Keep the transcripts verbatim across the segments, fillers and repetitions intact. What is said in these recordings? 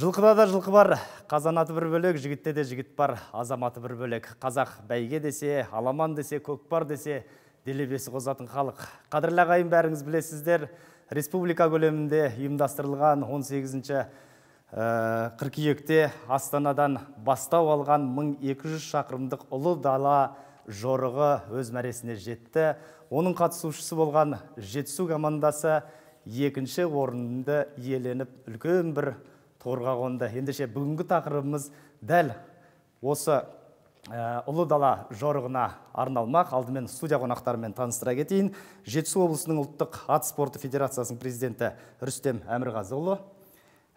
Жылқыда да жылқы бар, қазанаты бір бөлек, жігітте де жігіт бар, азаматы бір бөлек. Қазақ бәйге десе, аламан десе, көкпар десе, делебесі қозатын халық. Қадірлі ағайын, бәріңіз білесіздер, республика көлемінде ұйымдастырылған он сегізінші қыркүйекте Астанадан бастау алған мың екі жүз шақырымдық ұлы дала жорығы өз мәресіне жетті. Оның қатысушысы болған Жетісу командасы екінші орынды иеленіп, үлкен бір торға қонды. Ендеше бүгінгі тақырыбымыз дәл осы ұлы дала жорығына арналмақ. Алдымен студия қонақтарымен таныстыра кетейін. Жетісу облысының ұлттық ат спорты федерациясының президенті Рүстем Әмірғазыұлы,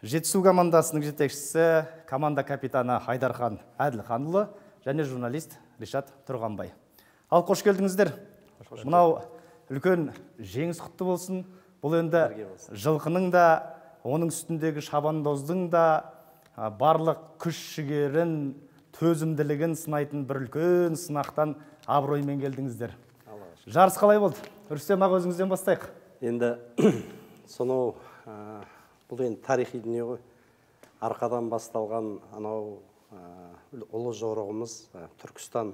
Жетісу командасының жетекшісі, команда капитаны Айдархан Әділханұлы және журналист Ришат Тұрғанбай. Ал қош келдіңіздер. Мынау үлкен жеңіс құтты болсын. Бұл енді жылқының да, оның үстіндегі шабандоздың да барлық күш жігерін, төзімділігін сынайтын бір үлкен сынақтан абыроймен келдіңіздер. Жарыс қалай болды? Рүстем аға, өзіңізден бастайық. Енді сонау бұл енді тарихи дүние ғой. Арқадан басталған анау ұлы жорығымыз Түркістан,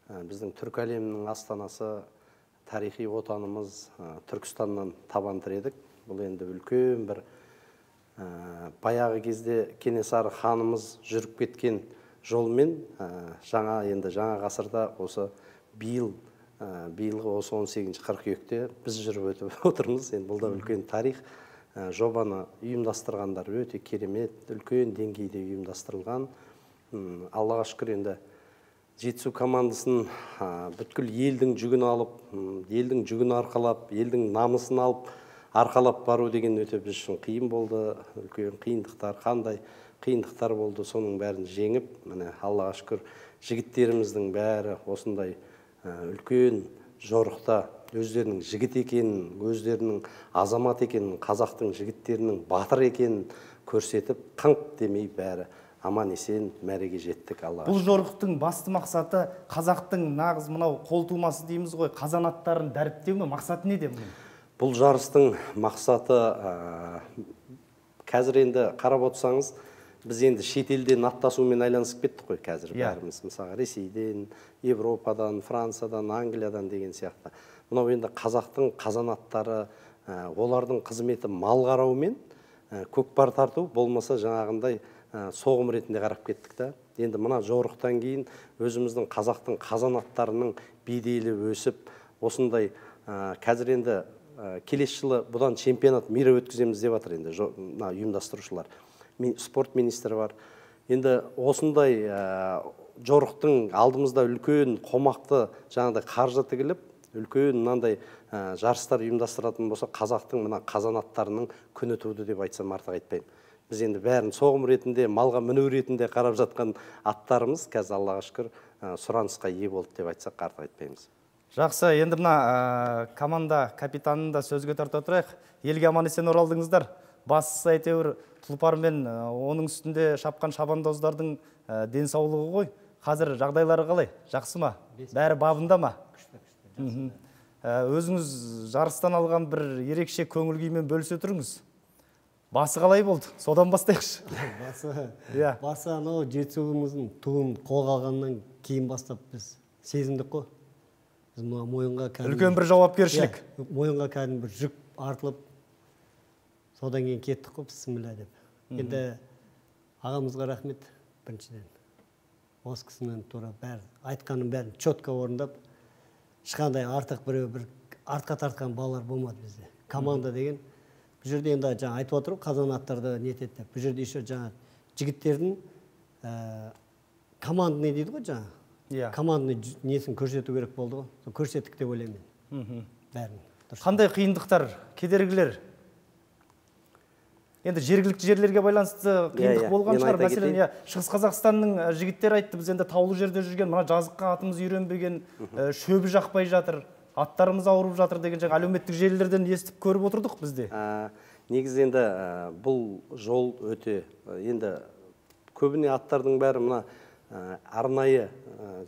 біздің түркі әлемінің астанасы, тарихи отанымыз Түркістаннан табан тіредік. Бұл енді үлкен бір баяғы кезде Кенесары ханымыз жүріп кеткен жолмен жаңа енді жаңа ғасырда осы биыл биылғы осы он сегізінші қыркүйекте біз жүріп өтіп отырмыз. Енді бұл да үлкен тарих. Жобаны ұйымдастырғандар өте керемет, үлкен деңгейде ұйымдастырылған. Аллаға шүкір, енді Жетісу командасын бүткіл елдің жүгін алып, елдің жүгін арқалап, елдің намысын алып, арқалап бару деген өте біз үшін қиын болды. Үлкен қиындықтар, қандай қиындықтар болды, соның бәрін жеңіп, міне Аллаға шүкір, жігіттеріміздің бәрі осындай үлкен жорықта өздерінің жігіт екенін, өздерінің азамат екенін, қазақтың жігіттерінің батыр екенін көрсетіп, қыңқ демей бәрі аман есен мәреге жеттік. Аллаға. Бұл жорықтың басты мақсаты қазақтың нағыз мынау қолтумасы дейміз ғой, қазанаттарын дәріптеу ме? Мақсаты неде бұның? Бұл жарыстың мақсаты, қазір енді қарап отырсаңыз, біз енді шетелден аттасумен айланысып кеттік қой қазір бәріміз. Мысалы Ресейден, Европадан, Франциядан, Англиядан деген сияқты. Мынау енді қазақтың қазанаттары, олардың қызметі мал қараумен көкпар тарту, болмаса жаңағындай соғым ретінде қарап кеттік та. Енді мына жорықтан кейін өзіміздің қазақтың қазанаттарының беделі өсіп, осындай қазір енді келесі жылы бұдан чемпионат мира өткіземіз деп жатыр енді ұйымдастырушылар. Спорт министрі бар. Енді осындай жорықтың алдымызда үлкен қомақты жаңағыдай қаржы тігіліп, үлкен мынандай жарыстар ұйымдастыратын болса, қазақтың мына қазанаттарының күні туды деп айтсам артық айтпаймын. Біз енді бәрін соғым ретінде, малға міну ретінде қарап жатқан аттарымыз қазір Аллаға шүкір сұранысқа ие болды деп айтсақ артық айтпаймыз. Жақсы, енді мына команда капитанын да сөзге тарта тұрайық. Елге аман есен оралдыңыздар. Бастысы әйтеуір тұлпар мен оның үстінде шапқан шабандоздардың денсаулығы ғой. Қазір жағдайлары қалай? Жақсы ма? Бәрі бабында ма? Өзіңіз жарыстан алған бір ерекше көңіл күймен бөлісе тұрыңыз. Басы қалай болды? Содан бастайықшы. Басы, басы анау Жетісуымыздың туын қолға алғаннан кейін бастап біз сезіндік қой. Біз мойынға үлкен бір жауапкершілік. Мойынға кәдімгі бір жүк артылып, содан кейін кеттік қой, бісміллә деп. Енді ағамызға рахмет біріншіден. Осы кісінің тура бәрі, айтқанын бәрін чотқа орындап, ешқандай артық біреу бір артқа тартқан балалар болмады бізде. Команда деген, бұл жерде енді жаңа айтып отыру, қазанаттарды нетеді деп. Бұл жерде еще жаңа жігіттердің команда не дейді ғой жаңа? Команданы несін көрсету керек болды ғой. Көрсеттік деп ойлаймын. Бәрін. Қандай қиындықтар, кедергілер? Енді жергілікті жерлерге байланысты қиындық болған шығар. Мәселен, Шығыс Қазақстанның жігіттері айтты, біз енді таулы жерде жүрген, мына жазыққа атымыз үйренбеген, шөбі жақпай жатыр, аттарымыз ауырып жатыр деген жаңа әлеуметтік желілерден естіп көріп отырдық бізде. Негізі енді бұл жол өте, енді көбіне аттардың бәрі мына арнайы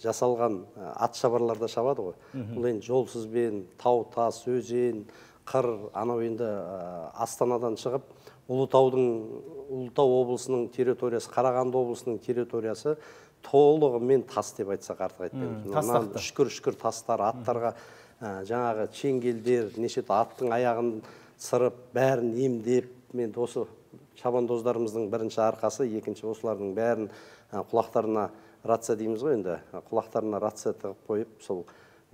жасалған ат шабарларда шабады ғой. Бұл енді жолсызбен, тау, тас, өзен, қыр, анау енді Астанадан шығып, Ұлытаудың, Ұлытау облысының территориясы, Қарағанды облысының территориясы толығымен тас деп айтсақ артық айтпаймыз. Тастақты. Үшкір-үшкір тастар, аттарға жаңағы чеңгелдер, неше аттың аяғын сырып, бәрін емдеп, мен осы шабандоздарымыздың бірінші арқасы, екінші осылардың бәрін құлақтарына рация дейміз ғой енді, құлақтарына рация тығып қойып, сол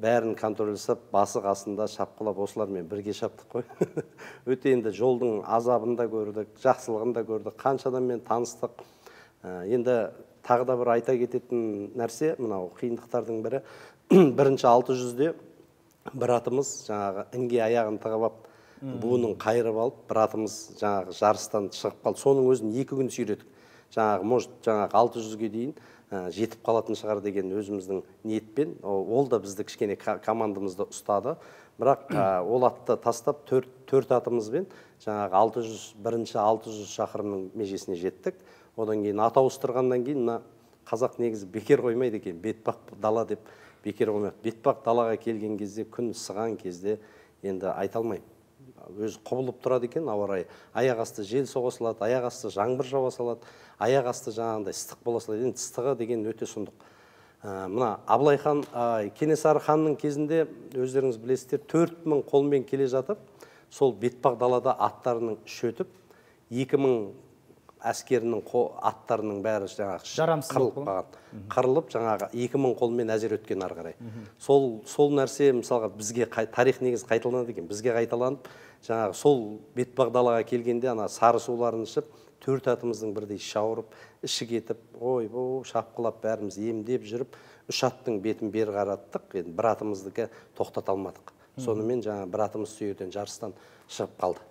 бәрін контроль жасап, басы қасында шапқылап осылармен бірге шаптық қой. Өте енді жолдың азабын да көрдік, жақсылығын да көрдік, қанша адаммен таныстық. Енді тағы да бір айта кететін нәрсе, мынау қиындықтардың бірі, бірінші алты жүзде бір атымыз жаңағы інге аяғын тығып алып, буының қайырып алып, бір атымыз жаңағы жарыстан шығып қалды. Соның өзін екі күн сүйредік. Жаңағы, может, жаңағы алты жүзге дейін жетіп қалатын шығар деген өзіміздің ниетпен, ол да бізді кішкене командамызды ұстады. Бірақ ол атты тастап төрт атымызбен жаңағы алты жүз, бірінші алты жүз шақырымның межесіне жеттік. Одан кейін ат ауыстырғаннан кейін мына қазақ негізі бекер қоймайды екен, бетпақ дала деп бекер қоймайды. Бетпақ далаға келген кезде, күн ысыған кезде енді айта алмаймын. Өзі құбылып тұрады екен, ауа райы. Аяқ асты жел соға салады, аяқ асты жаңбыр жауа салады, аяқ асты жаңағындай ыстық бола салады. Енді ыстығы деген өте сұмдық. Мына Абылай хан, Кенесары ханның кезінде өздеріңіз білесіздер, төрт мың қолмен келе жатып, сол бетпақ далада аттарының шөтіп, екі мың әскерінің аттарының бәрі жаңағы қырылып қалған. Қырылып жаңағы екі мың қолмен әзер өткен ары қарай. Сол сол нәрсе мысалға бізге тарих негізі қайталанады екен. Бізге қайталанып, жаңағы сол бетпақ далаға келгенде ана сары суларын ішіп, төрт атымыздың бірдей шауырып, іші кетіп, ой-бой шапқылап бәріміз емдеп жүріп, үш аттың бетін бері қараттық. Енді бір атымыздікі тоқтата алмадық. Сонымен жаңағы бір атымыз сүйерден жарыстан шығып қалды.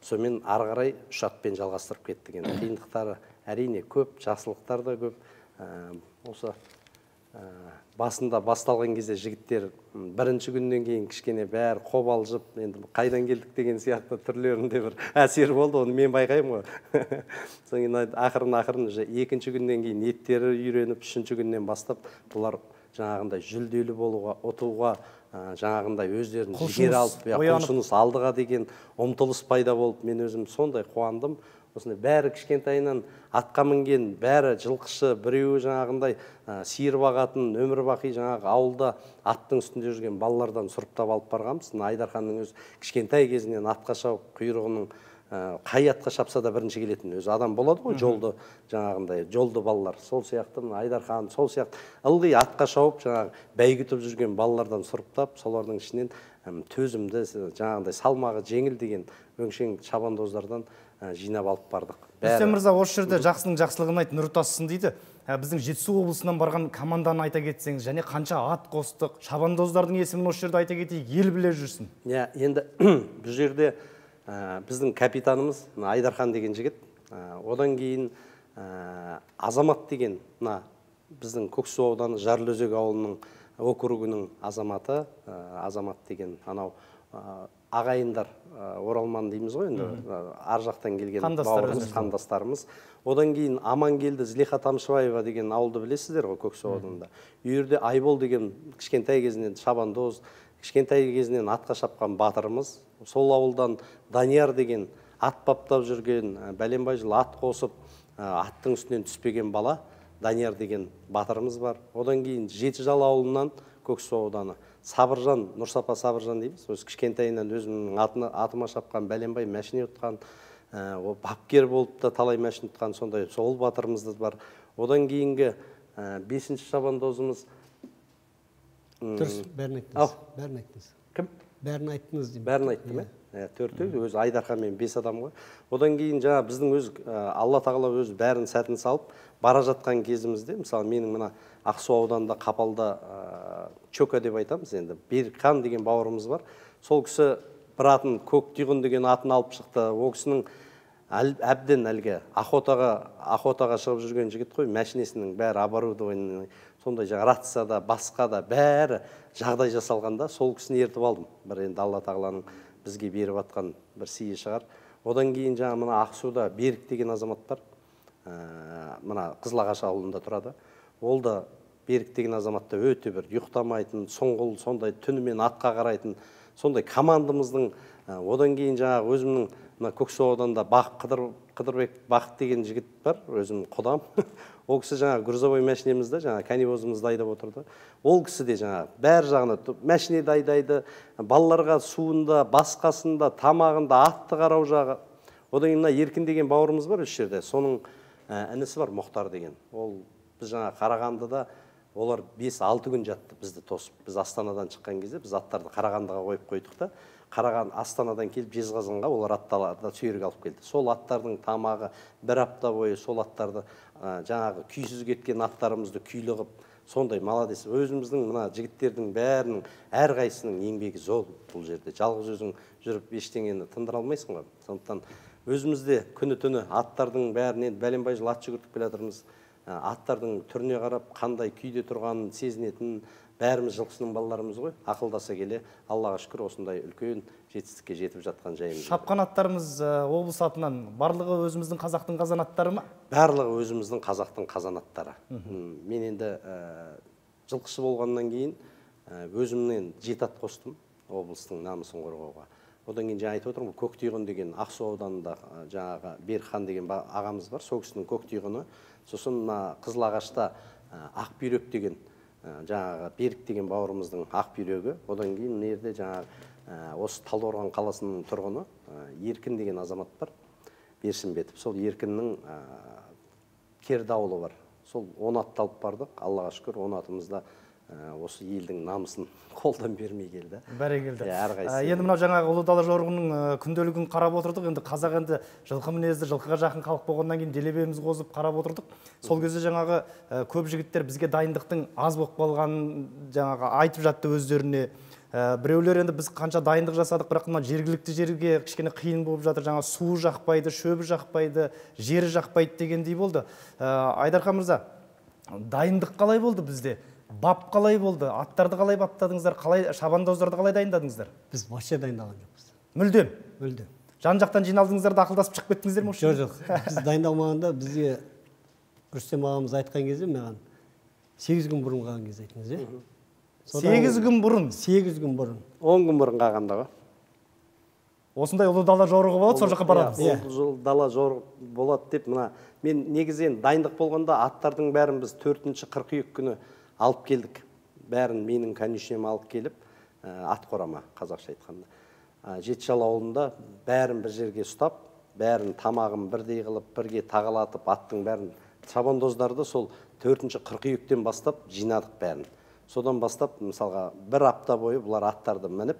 Сонымен ары қарай үш атпен жалғастырып кеттік. Енді қиындықтары әрине көп, жақсылықтар да көп. Осы басында басталған кезде жігіттер бірінші күннен кейін кішкене бәрі қобалжып, енді қайдан келдік деген сияқты түрлерінде бір әсер болды, оны мен байқаймын ғой. Содан кейін ақырын-ақырын екінші күннен кейін еттері үйреніп, үшінші күннен бастап бұлар жаңағындай жүлделі болуға, ұтуға, жаңағындай өздерін жігер алып, құлшыныс алдыға деген ұмтылыс пайда болып, мен өзім сондай қуандым. Осындай бәрі кішкентайынан атқа мінген, бәрі жылқышы, біреуі жаңағындай сиыр бағатын, өмір бақи жаңағы ауылда аттың үстінде жүрген балалардан сұрыптап алып барғанбыз. Айдарханның өз кішкентай кезінен атқа шауып, құйрығының қай атқа шапса да бірінші келетін өзі адам болады ғой, жолды жаңағындай жолды балалар. Сол сияқты Айдархан, сол сияқты ылғи атқа шауып, жаңағы бәйгүтіп жүрген балалардан сұрыптап, солардың ішінен төзімді, жаңағындай салмағы жеңіл деген өңшең шабандоздардан жинап алып бардық. Рүстем мырза, осы жерде жақсының жақсылығын айт, нұр тасысын дейді. Біздің Жетісу облысынан барған команданы айта кетсеңіз, және қанша ат қостық, шабандоздардың есімін осы жерде айта кетейік, ел біле жүрсін. Иә, енді бұл жерде біздің капитанымыз Айдархан деген жігіт, одан кейін Азамат деген, біздің Көксу ауданы Жарлыөзек ауылының округінің азаматы, Азамат деген анау ағайындар, оралман дейміз ғой, енді ар жақтан келген бауырымыз, қандастарымыз. Одан кейін Амангелді Злиха Тамшыбаева деген ауылды білесіздер ғой, Көксу ауданында. Үйірде Айбол деген кішкентай кезінен шабандоз, кішкентай кезінен атқа шапқан батырымыз. Сол ауылдан Данияр деген ат баптап жүрген, бәленбай жыл ат қосып, аттың үстінен түспеген бала, Данияр деген батырымыз бар. Одан кейін Жетіжал ауылынан Көксу ауданы Сабыржан, Нұрсапа Сабыржан дейміз. Өз кішкентайынан өзімнің атыма шапқан, бәленбай мәшіне ұтқан, бапкер болып та талай мәшін ұтқан, сондай сол батырымызды бар. Одан кейінгі бесінші шабандозымыз... Дұрыс, бәрін айттыңыз. Бәрін айттыңыз. Кім? Бәрін айттыңыз деймін. Бәрін айттым, ә? Төртеу, өзі Айдархан мен бес адам ғой. Одан кейін жаңа біздің өз Алла тағала өзі бәрін сәтін салып, бара жатқан кезімізде, мысалы менің мына Ақсу ауданында Қапалда Чока деп айтамыз енді, Берікхан деген бауырымыз бар. Сол кісі бір атын, Көктүйғын деген атын алып шықты. Ол кісінің әбден әлгі охотаға шығып жүрген жігіт қой, мәшінесінің бәрі оборудование, сондай жаңа рацияда, басқа да бәрі жағдай жасалғанда, сол кісіні ертіп алдым. Бір енді Алла тағаланың бізге беріп атқан бір сыйы шығар. Одан кейін жаңа мына Ақсуда Берік деген азамат бар. Мына Қызылағаш ауылында тұрады. Ол да Берік деген азаматта өте бір ұйықтамайтын, соңғыл, сондай түнімен атқа қарайтын, сондай командамыздың Одан кейін жаңағы өзімнің мына Көксу ауданында Қыдырбек Бақыт деген жігіт бар, өзім құдам. Ол кісі жаңағы грузовой машинемізді, жаңағы канивозымызды айдап отырды. Ол кісі де жаңағы бәр жағына машинеді айдайды, балаларға суында, басқасында, тамағында, атты қарау жағы. Одан кейін мына Еркін деген бауырымыз бар осы жерде. Соның інісі бар, Мұхтар деген. Ол біз жаңа Қарағандыда олар бес алты күн жатты бізді тосып. Біз Астанадан шыққан кезде біз аттарды Қарағандыға қойып қойдық та, Қараған Астанадан келіп Жезқазғанға олар атталарда сүйрік алып келді. Сол аттардың тамағы бір апта бойы сол аттарды жаңағы күйсіз кеткен аттарымызды күйлі қып, сондай молодец. Өзіміздің мына жігіттердің бәрінің әрқайсының еңбегі зор бұл жерде. Жалғыз өзің жүріп ештеңені тындыра алмайсың ғой. Сондықтан өзімізде күні түні аттардың бәрінен бәленбай жыл ат жүгіртіп келе жатырмыз. Аттардың түріне қарап қандай күйде тұрғанын сезінетін бәріміз жылқысының балаларымыз ғой. Ақылдаса келе, Аллаға шүкір осындай үлкен жетістікке жетіп жатқан жайымыз. Шапқан аттарымыз облыс атынан барлығы өзіміздің қазақтың қазан аттары ма? Барлығы өзіміздің қазақтың қазан аттары. Мен енді жылқышы болғаннан кейін өзімнен жеті ат қостым облыстың намысын қорғауға. Одан кейін жаңа айтып отырмын, Көктүйғын деген Ақсу ауданында жаңағы Берхан деген ағамыз бар, сол кісінің Көктүйғыны. Сосын Қызылағашта Ақбүйрек деген жаңағы Берік деген бауырымыздың Ақбүйрегі. Одан кейін мына жерде жаңағы осы Талдықорған қаласының тұрғыны Еркін деген азамат бар, Берсімбетов. Сол Еркіннің Кердауылы бар. Сол он атты алып бардық. Аллаға шүкір, он атымызда осы елдің намысын қолдан бермей келді. Бәрекелді. Енді мынау жаңағы Ұлы Дала жорығының күнделігін қарап отырдық. Енді қазақ енді жылқы мінезді, жылқыға жақын халық болғаннан кейін делебеміз қозып қарап отырдық. Сол кезде жаңағы көп жігіттер бізге дайындықтың аз болып қалғанын жаңағы айтып жатты өздеріне. Біреулер енді біз қанша дайындық жасадық, бірақ мына жергілікті жерге кішкене қиын болып жатыр. Жаңа суы жақпайды, шөбі жақпайды, жері жақпайды дегендей болды. Айдархан мырза, дайындық қалай болды бізде? Бап қалай болды? Аттарды қалай баптадыңыздар? Қалай шабандоздарды қалай дайындадыңыздар? Біз вообще дайындалған жоқпыз. Мүлдем? Мүлдем. Жан-жақтан жиналдыңыздар да ақылдасып шығып кеттіңіздер ме? Жоқ, жоқ. Біз дайындалмағанда бізге Рүстем ағамыз айтқан кезде маған сегіз күн бұрын қалған кезде айтыңыз, е? сегіз күн бұрын? сегіз күн бұрын. он күн бұрын қалғанда ғой. Осындай Ұлы Дала жорығы болады, сол жаққа барамыз. Ұлы Дала жорығы болады деп, мына мен негізен дайындық болғанда аттардың бәрін біз төртінші қыркүйек күні алып келдік. Бәрін менің конюшнем алып келіп, ат қорама, қазақша айтқанда. Жетішал ауылында бәрін бір жерге ұстап, бәрін тамағын бірдей қылып, бірге тағалатып, аттың бәрін, шабандоздарды сол төртінші қыркүйектен бастап жинадық бәрін. Содан бастап, мысалға, бір апта бойы бұлар аттарды мініп,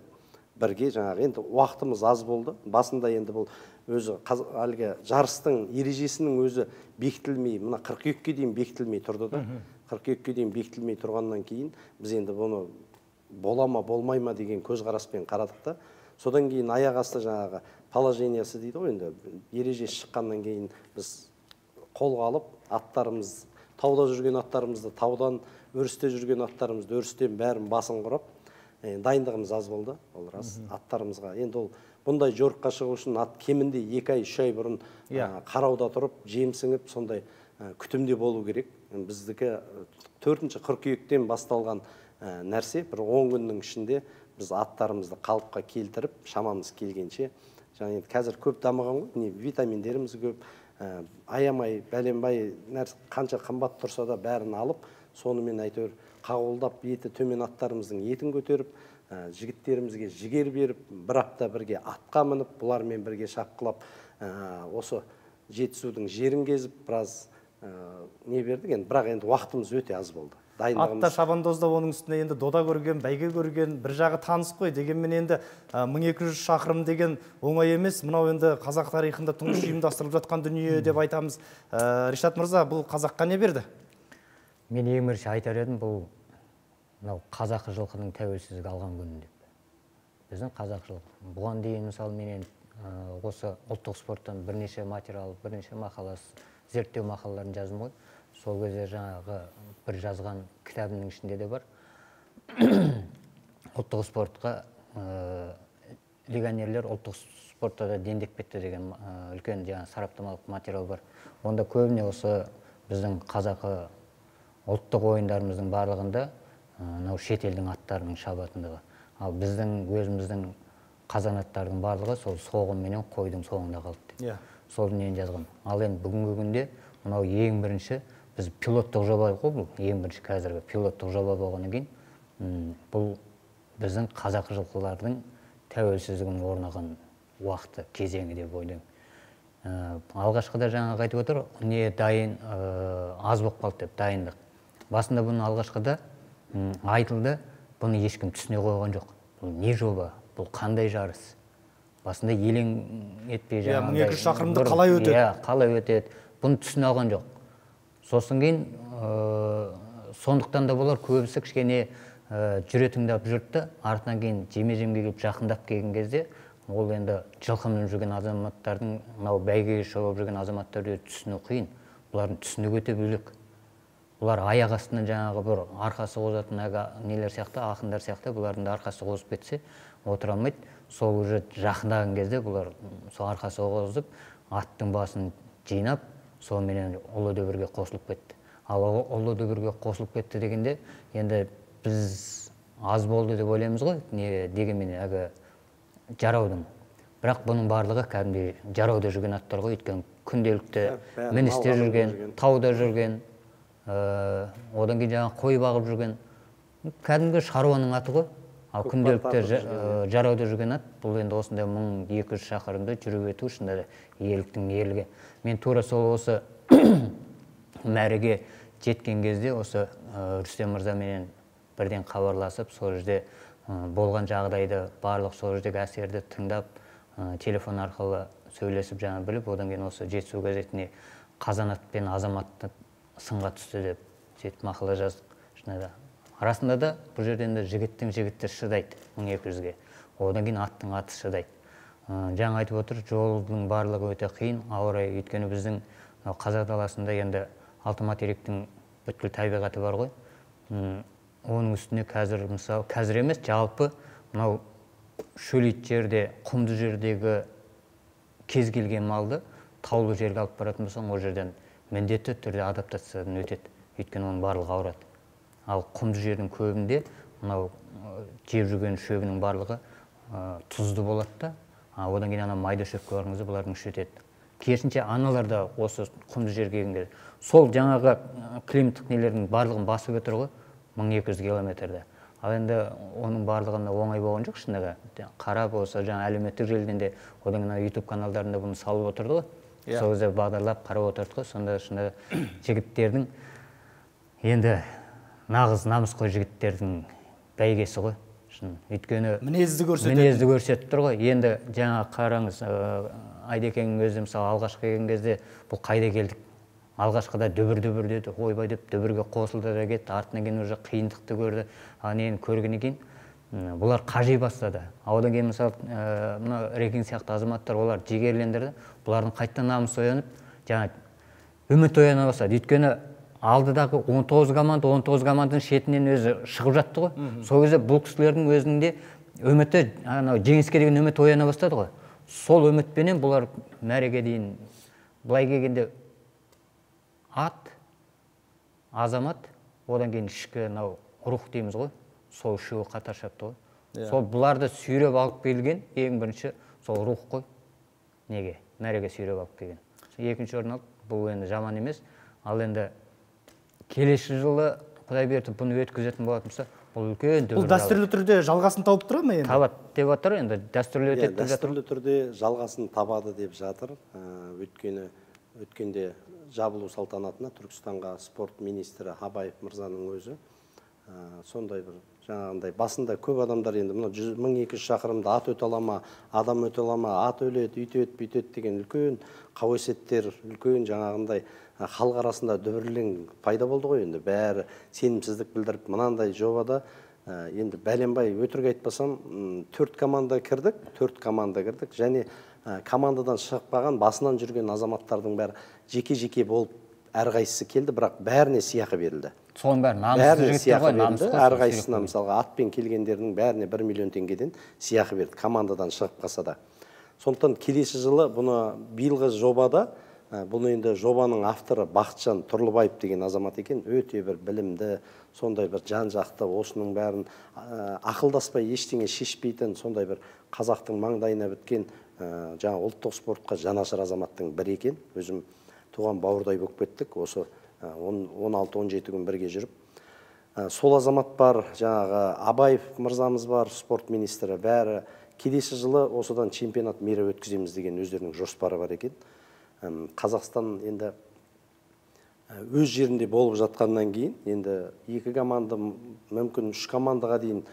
бірге жаңағы, енді уақытымыз аз болды. Басында енді бұл өзі әлгі жарыстың ережесінің өзі бекітілмей, мына қыркүйекке дейін бекітілмей тұрды да. қыркүйекке дейін бекітілмей тұрғаннан кейін біз енді бұны бола ма, болмай ма деген көзқараспен қарадық та. Содан кейін аяқ асты жаңағы положениясы дейді ғой, енді ережесі шыққаннан кейін біз қолға алып, аттарымыз, тауда жүрген аттарымызды таудан, өрісте жүрген аттарымызды өрістен бәрін басын құрап, дайындығымыз аз болды, ол рас. Аттарымызға енді ол бұндай жорыққа шығу үшін ат кемінде екі ай, үш ай бұрын қарауда тұрып, жемсіңіп, сондай күтімде болу керек. Біздікі төртінші қыркүйектен басталған нәрсе, бір он күннің ішінде біз аттарымызды қалыпқа келтіріп, шамамыз келгенше, және қазір көп дамыған ғой, витаминдеріміз көп, аямай, бәленбай нәрсе қанша қымбат тұрса да бәрін алып, сонымен әйтеуір қағылдап, еті төмен аттарымыздың етін көтеріп, жігіттерімізге жігер беріп, бір апта бірге атқа мініп, бұлармен бірге шапқылап, осы Жетісудың жерін кезіп, біраз не бердік, енді бірақ енді уақытымыз өте аз болды. Атта шабандозда оның үстіне енді дода көрген, бәйге көрген, бір жағы таныс қой. Дегенмен енді мың екі жүз шақырым деген оңай емес. Мынау енді қазақ тарихында тұңғыш ұйымдастырылып жатқан дүние деп айтамыз. Ришат мырза, бұл қазаққа не берді? Мен ең бірінші айтар едім, бұл қазақы жылқының тәуелсіздік алған күні деп. Біздің қазақ жылқы. Бұған дейін мысалы менен осы ұлттық спорттан бірнеше материал, бірнеше мақаласы, зерттеу мақалаларын жаздым ғой. Сол кезде жаңағы бір жазған кітабының ішінде де бар. Ұлттық спортқа легионерлер ұлттық спортта да дендеп кетті деген үлкен жаңа сараптамалық материал бар. Онда көбіне осы біздің қазақы ұлттық ойындарымыздың барлығында шет елдің аттарының шабатындығы. Ал біздің өзіміздің қазанаттардың барлығы сол соғым менен қойдың соңында қалды деп. Сол нені жазған. Ал енді бүгінгі күнде мынау ең бірінші біз пилоттық жоба ғой, бұл ең бірінші қазіргі пилоттық жоба болғаннан кейін бұл біздің қазақы жылқылардың тәуелсіздігінің орнаған уақыты, кезеңі деп ойлаймын. Алғашқыда жаңағы айтып отыр, не дайын аз болып қалды деп, дайындық. Басында бұның алғашқыда айтылды, бұны ешкім түсіне қойған жоқ. Бұл не жоба, бұл қандай жарыс? Басында елең етпей жаңағындай. мың екі жүз шақырымды қалай өтеді? Иә, қалай өтеді? Бұны түсіне алған жоқ. Сосын кейін, сондықтан да болар көбісі кішкене жүре тыңдап жүрді, артынан кейін жеме-жемге келіп жақындап келген кезде, ол енді жылқы мініп жүрген азаматтардың, мынау бәйгеге шауып жүрген азаматтарды түсіну қиын. Бұлардың түсінігі өте бөлек. Бұлар аяқ астынан жаңағы бір арқасы қозатын нелер сияқты, ақындар сияқты, бұлардың да арқасы қозып кетсе, отыра алмайды. Сол уже жақындаған кезде бұлар сол арқасы қозып, аттың басын жинап, сонымен ұлы дүбірге қосылып кетті. Ал ұлы дүбірге қосылып кетті дегенде, енді біз аз болды деп ойлаймыз ғой, не дегенмен әгі жараудың. Бірақ бұның барлығы кәдімгідей жарауда жүрген аттар ғой, өйткені күнделікті міністе жүрген, тауда жүрген, одан кейін жаңағы қой бағып жүрген, кәдімгі шаруаның аты ғой. Ал күнделікті жарауда жүрген ат, бұл енді осындай мың екі жүз шақырымды жүріп өту шында да еліктің ерлігі. Мен тура сол осы мәреге жеткен кезде осы Рүстем мырзаменен бірден хабарласып, сол жерде болған жағдайды, барлық сол жердегі әсерді тыңдап, телефон арқылы сөйлесіп жаңа біліп, одан кейін осы Жетісу газетіне Қазанат пен Азаматты сынға түсті деп сөйтіп мақала жаздық. Шынында арасында да бұл жерден де жігіттің жігіті шыдайды мың екі жүзге. Одан кейін аттың аты шыдайды. Жаңа айтып отыр, жолдың барлығы өте қиын, ауыр райы, өйткені біздің қазақ даласында енді алты материктің бүткіл табиғаты бар ғой. Оның үстіне қазір, мысалы, қазір емес, жалпы мынау шөлейт жерде, құмды жердегі кез келген малды таулы жерге алып баратын болсаң, ол жерден міндетті түрде адаптациядан өтеді, өйткені оның барлығы ауырады. Ал құмды жердің көбінде мынау жеп жүрген шөбінің барлығы тұзды болады да, одан кейін ана майда шөпке барыңызды бұлардың іші өтеді. Керісінше аналар да осы құмды жерге келгенде сол жаңағы климаттық нелердің барлығын басып өтір ғой, мың екі жүз километрді. Ал енді оның барлығында оңай болған жоқ шындағы. Қарап болса, жаңа әлеуметтік желіден де, одан кейін YouTube каналдарында бұны салып отырды ғой. Сол кезде бағдарлап қарап отырды ғой. Сонда шынында жігіттердің енді нағыз намысқой жігіттердің бәйгесі ғой. Өйткені мінезді көрсетеді. Мінезді көрсетіп тұр ғой. Енді жаңа қараңыз, Айдекеңнің өзі мысалы алғашқы келген кезде бұл қайда келдік? Алғашқыда дүбір-дүбір деді, ойбай деп дүбірге қосылды да кетті, артынан кейін уже қиындықты көрді. Нені көргеннен кейін бұлар қажи бастады. Одан кейін мысалы мына Рекин сияқты азаматтар олар жігерлендірді. Бұлардың қайттан намысы оянып, жаңа үміт ояна бастады. Өйткені алдыдағы он тоғыз команда, он тоғыз команданың шетінен өзі шығып жатты ғой. Сол кезде бұл кісілердің өзінің де үміті, жеңіске деген үміт ояна бастады ғой. Сол үмітпенен бұлар мәреге дейін былай келгенде ат, азамат, одан кейін ішкі рух дейміз ғой, сол үшеуі қатар шапты ғой. Сол бұларды сүйреп алып келген, ең бірінші сол рух қой. Неге? Мәреге сүйреп алып келген. Екінші орын алып, бұл енді жаман емес. Ал енді келесі жылы Құдай берді бұны өткізетін болатын болса, бұл үлкен дүбір. Бұл дәстүрлі түрде жалғасын тауып тұра ма енді? Табады деп жатыр енді, дәстүрлі өтеді деп жатыр. Дәстүрлі түрде жалғасын табады деп жатыр. Өткені өткенде жабылу салтанатына Түркістанға спорт министрі Абаев мырзаның өзі сондай бір жаңағындай басында көп адамдар енді мың екі жүз шақырымда ат өте ала ма, адам өте ала ма, ат өледі, үйтеді, бүйтеді деген үлкен қауесеттер, үлкен жаңағындай халық арасында дүбірлең пайда болды ғой енді. Бәрі сенімсіздік білдіріп, мынандай жобада енді бәленбай өтірік айтпасам, төрт команда кірдік, төрт команда кірдік және командадан шықпаған басынан жүрген азаматтардың бәрі жеке-жеке болып әрқайсысы келді, бірақ бәріне сыйақы берілді. Соның бәрі намысты жігіттер ғой, намысты. Әрқайсысына мысалға атпен келгендердің бәріне бір миллион теңгеден сыйақы берді, командадан шығып қалса да. Сондықтан келесі жылы бұны биылғы жобада бұл енді жобаның авторы Бақытжан Тұрлыбаев деген азамат екен. Өте бір білімді, сондай бір жан-жақты, осының бәрін ақылдаспай ештеңе шешпейтін, сондай бір қазақтың маңдайына біткен жаңа ұлттық спортқа жанашыр азаматтың бірі екен. Өзім туған бауырдай болып кеттік, осы он алты он жеті күн бірге жүріп. Сол азамат бар, жаңағы Абаев мырзамыз бар, спорт министрі, бәрі келесі жылы осыдан чемпионат мейра өткіземіз деген өздерінің жоспары бар екен. Қазақстан енді өз жерінде болып жатқаннан кейін, енді екі команда, мүмкін үш командаға дейін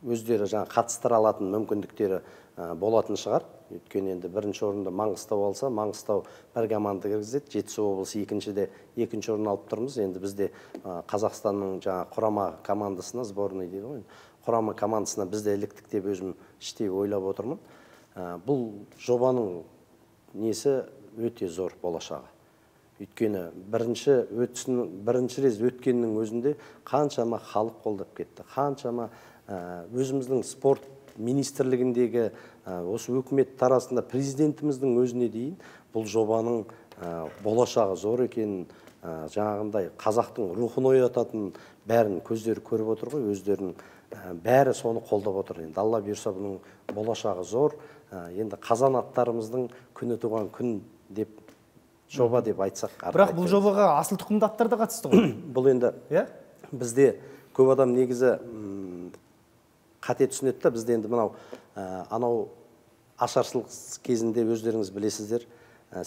өздері жаңа қатыстыра алатын мүмкіндіктері болатын шығар. Өйткені енді бірінші орында Маңғыстау алса, Маңғыстау бір команда кіргізеді, Жетісу облысы екіншіде екінші орын алып тұрмыз. Енді бізде Қазақстанның жаңа құрама командасына, сборный дейді ғой, құрама командасына бізде іліктік деп өзім іштей ойлап отырмын. Бұл жобаның несі өте зор болашағы. Өйткені бірінші өтсін, бірінші рез өткеннің өзінде қаншама халық қолдап кетті, қаншама өзіміздің спорт министрлігіндегі осы өкімет тарасында президентіміздің өзіне дейін бұл жобаның болашағы зор екенін, жаңағындай қазақтың рухын оятатын бәрін көздері көріп отыр ғой, өздерінің бәрі соны қолдап отыр. Енді Алла бұйырса бұның болашағы зор. Енді қазанаттарымыздың күні туған күн деп жоба деп айтсақ. Бірақ бұл жобаға асыл тұқымды аттар да қатысты ғой. Бұл енді бізде көп адам негізі қате түсінеді да, бізде енді мынау анау ашаршылық кезінде өздеріңіз білесіздер,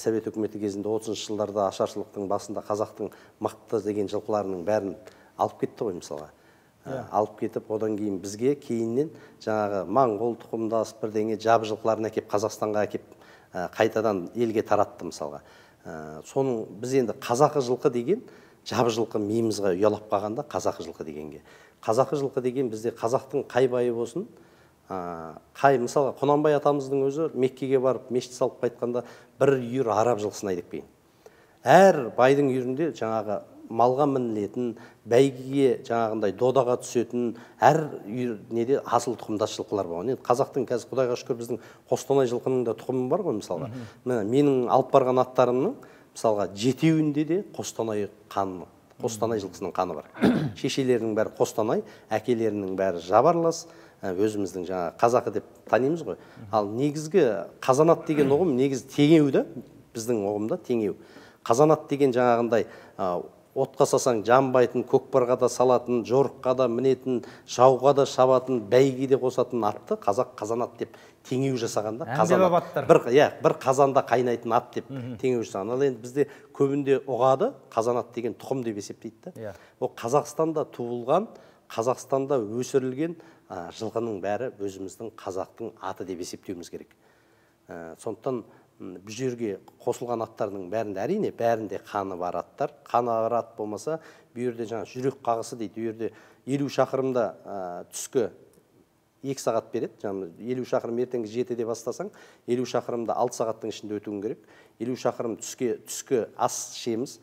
Совет үкіметі кезінде отызыншы жылдарда ашаршылықтың басында қазақтың мықты деген жылқыларының бәрін алып кетті ғой мысалға. Алып кетіп, одан кейін бізге кейіннен жаңағы моңғол тұқымдас бірдеңе жабы жылқыларын әкеп Қазақстанға әкеп қайтадан елге таратты мысалға. Соның біз енді қазақы жылқы деген жабы жылқы миымызға ұялап қалғанда қазақы жылқы дегенге. Қазақы жылқы деген бізде қазақтың қай байы болсын, қай мысалға Құнанбай атамыздың өзі Меккеге барып мешіт салып қайтқанда бір үйір араб жылқысын айдап келген. Әр байдың үйірінде жаңағы малға мінілетін, бәйгеге жаңағындай додаға түсетін, әр неде асыл тұқымдас жылқылар болған. Енді қазақтың қазір Құдайға шүкір біздің Қостанай жылқының да тұқымы бар ғой мысалға. Менің алып барған аттарымның мысалға жетеуінде де Қостанай қаны, Қостанай жылқысының қаны бар. Шешелерінің бәрі Қостанай, әкелерінің бәрі жабарлас, өзіміздің жаңа қазақы деп танимыз ғой. Ал негізгі қазанат деген ұғым негізі теңеу да, біздің ұғымда теңеу. Қазанат деген жаңағындай отқа сасаң жанбайтын, көкпарға да салатын, жорыққа да мінетін, жауға да шабатын, бәйгеде қосатын атты қазақ қазанат деп теңеу жасағанда, бір, иә, бір қазанда қайнайтын ат деп теңеу жасаған. Ал енді бізде көбінде ұғады, қазанат деген тұқым деп есептейді да. Ол Қазақстанда туылған, Қазақстанда өсірілген жылқының бәрі өзіміздің қазақтың аты деп есептеуіміз керек. Сондықтан бұл жерге қосылған аттардың бәрінде әрине бәрінде қаны бар аттар. Қаны бар ат болмаса, бұл жерде жаңа жүрек қағысы дейді. Бұл жерде елу шақырымда түскі екі сағат береді. Елу шақырым ертеңгі жетіде бастасаң, елу шақырымда алты сағаттың ішінде өтуің керек. Елу шақырым түскі ас ішеміз.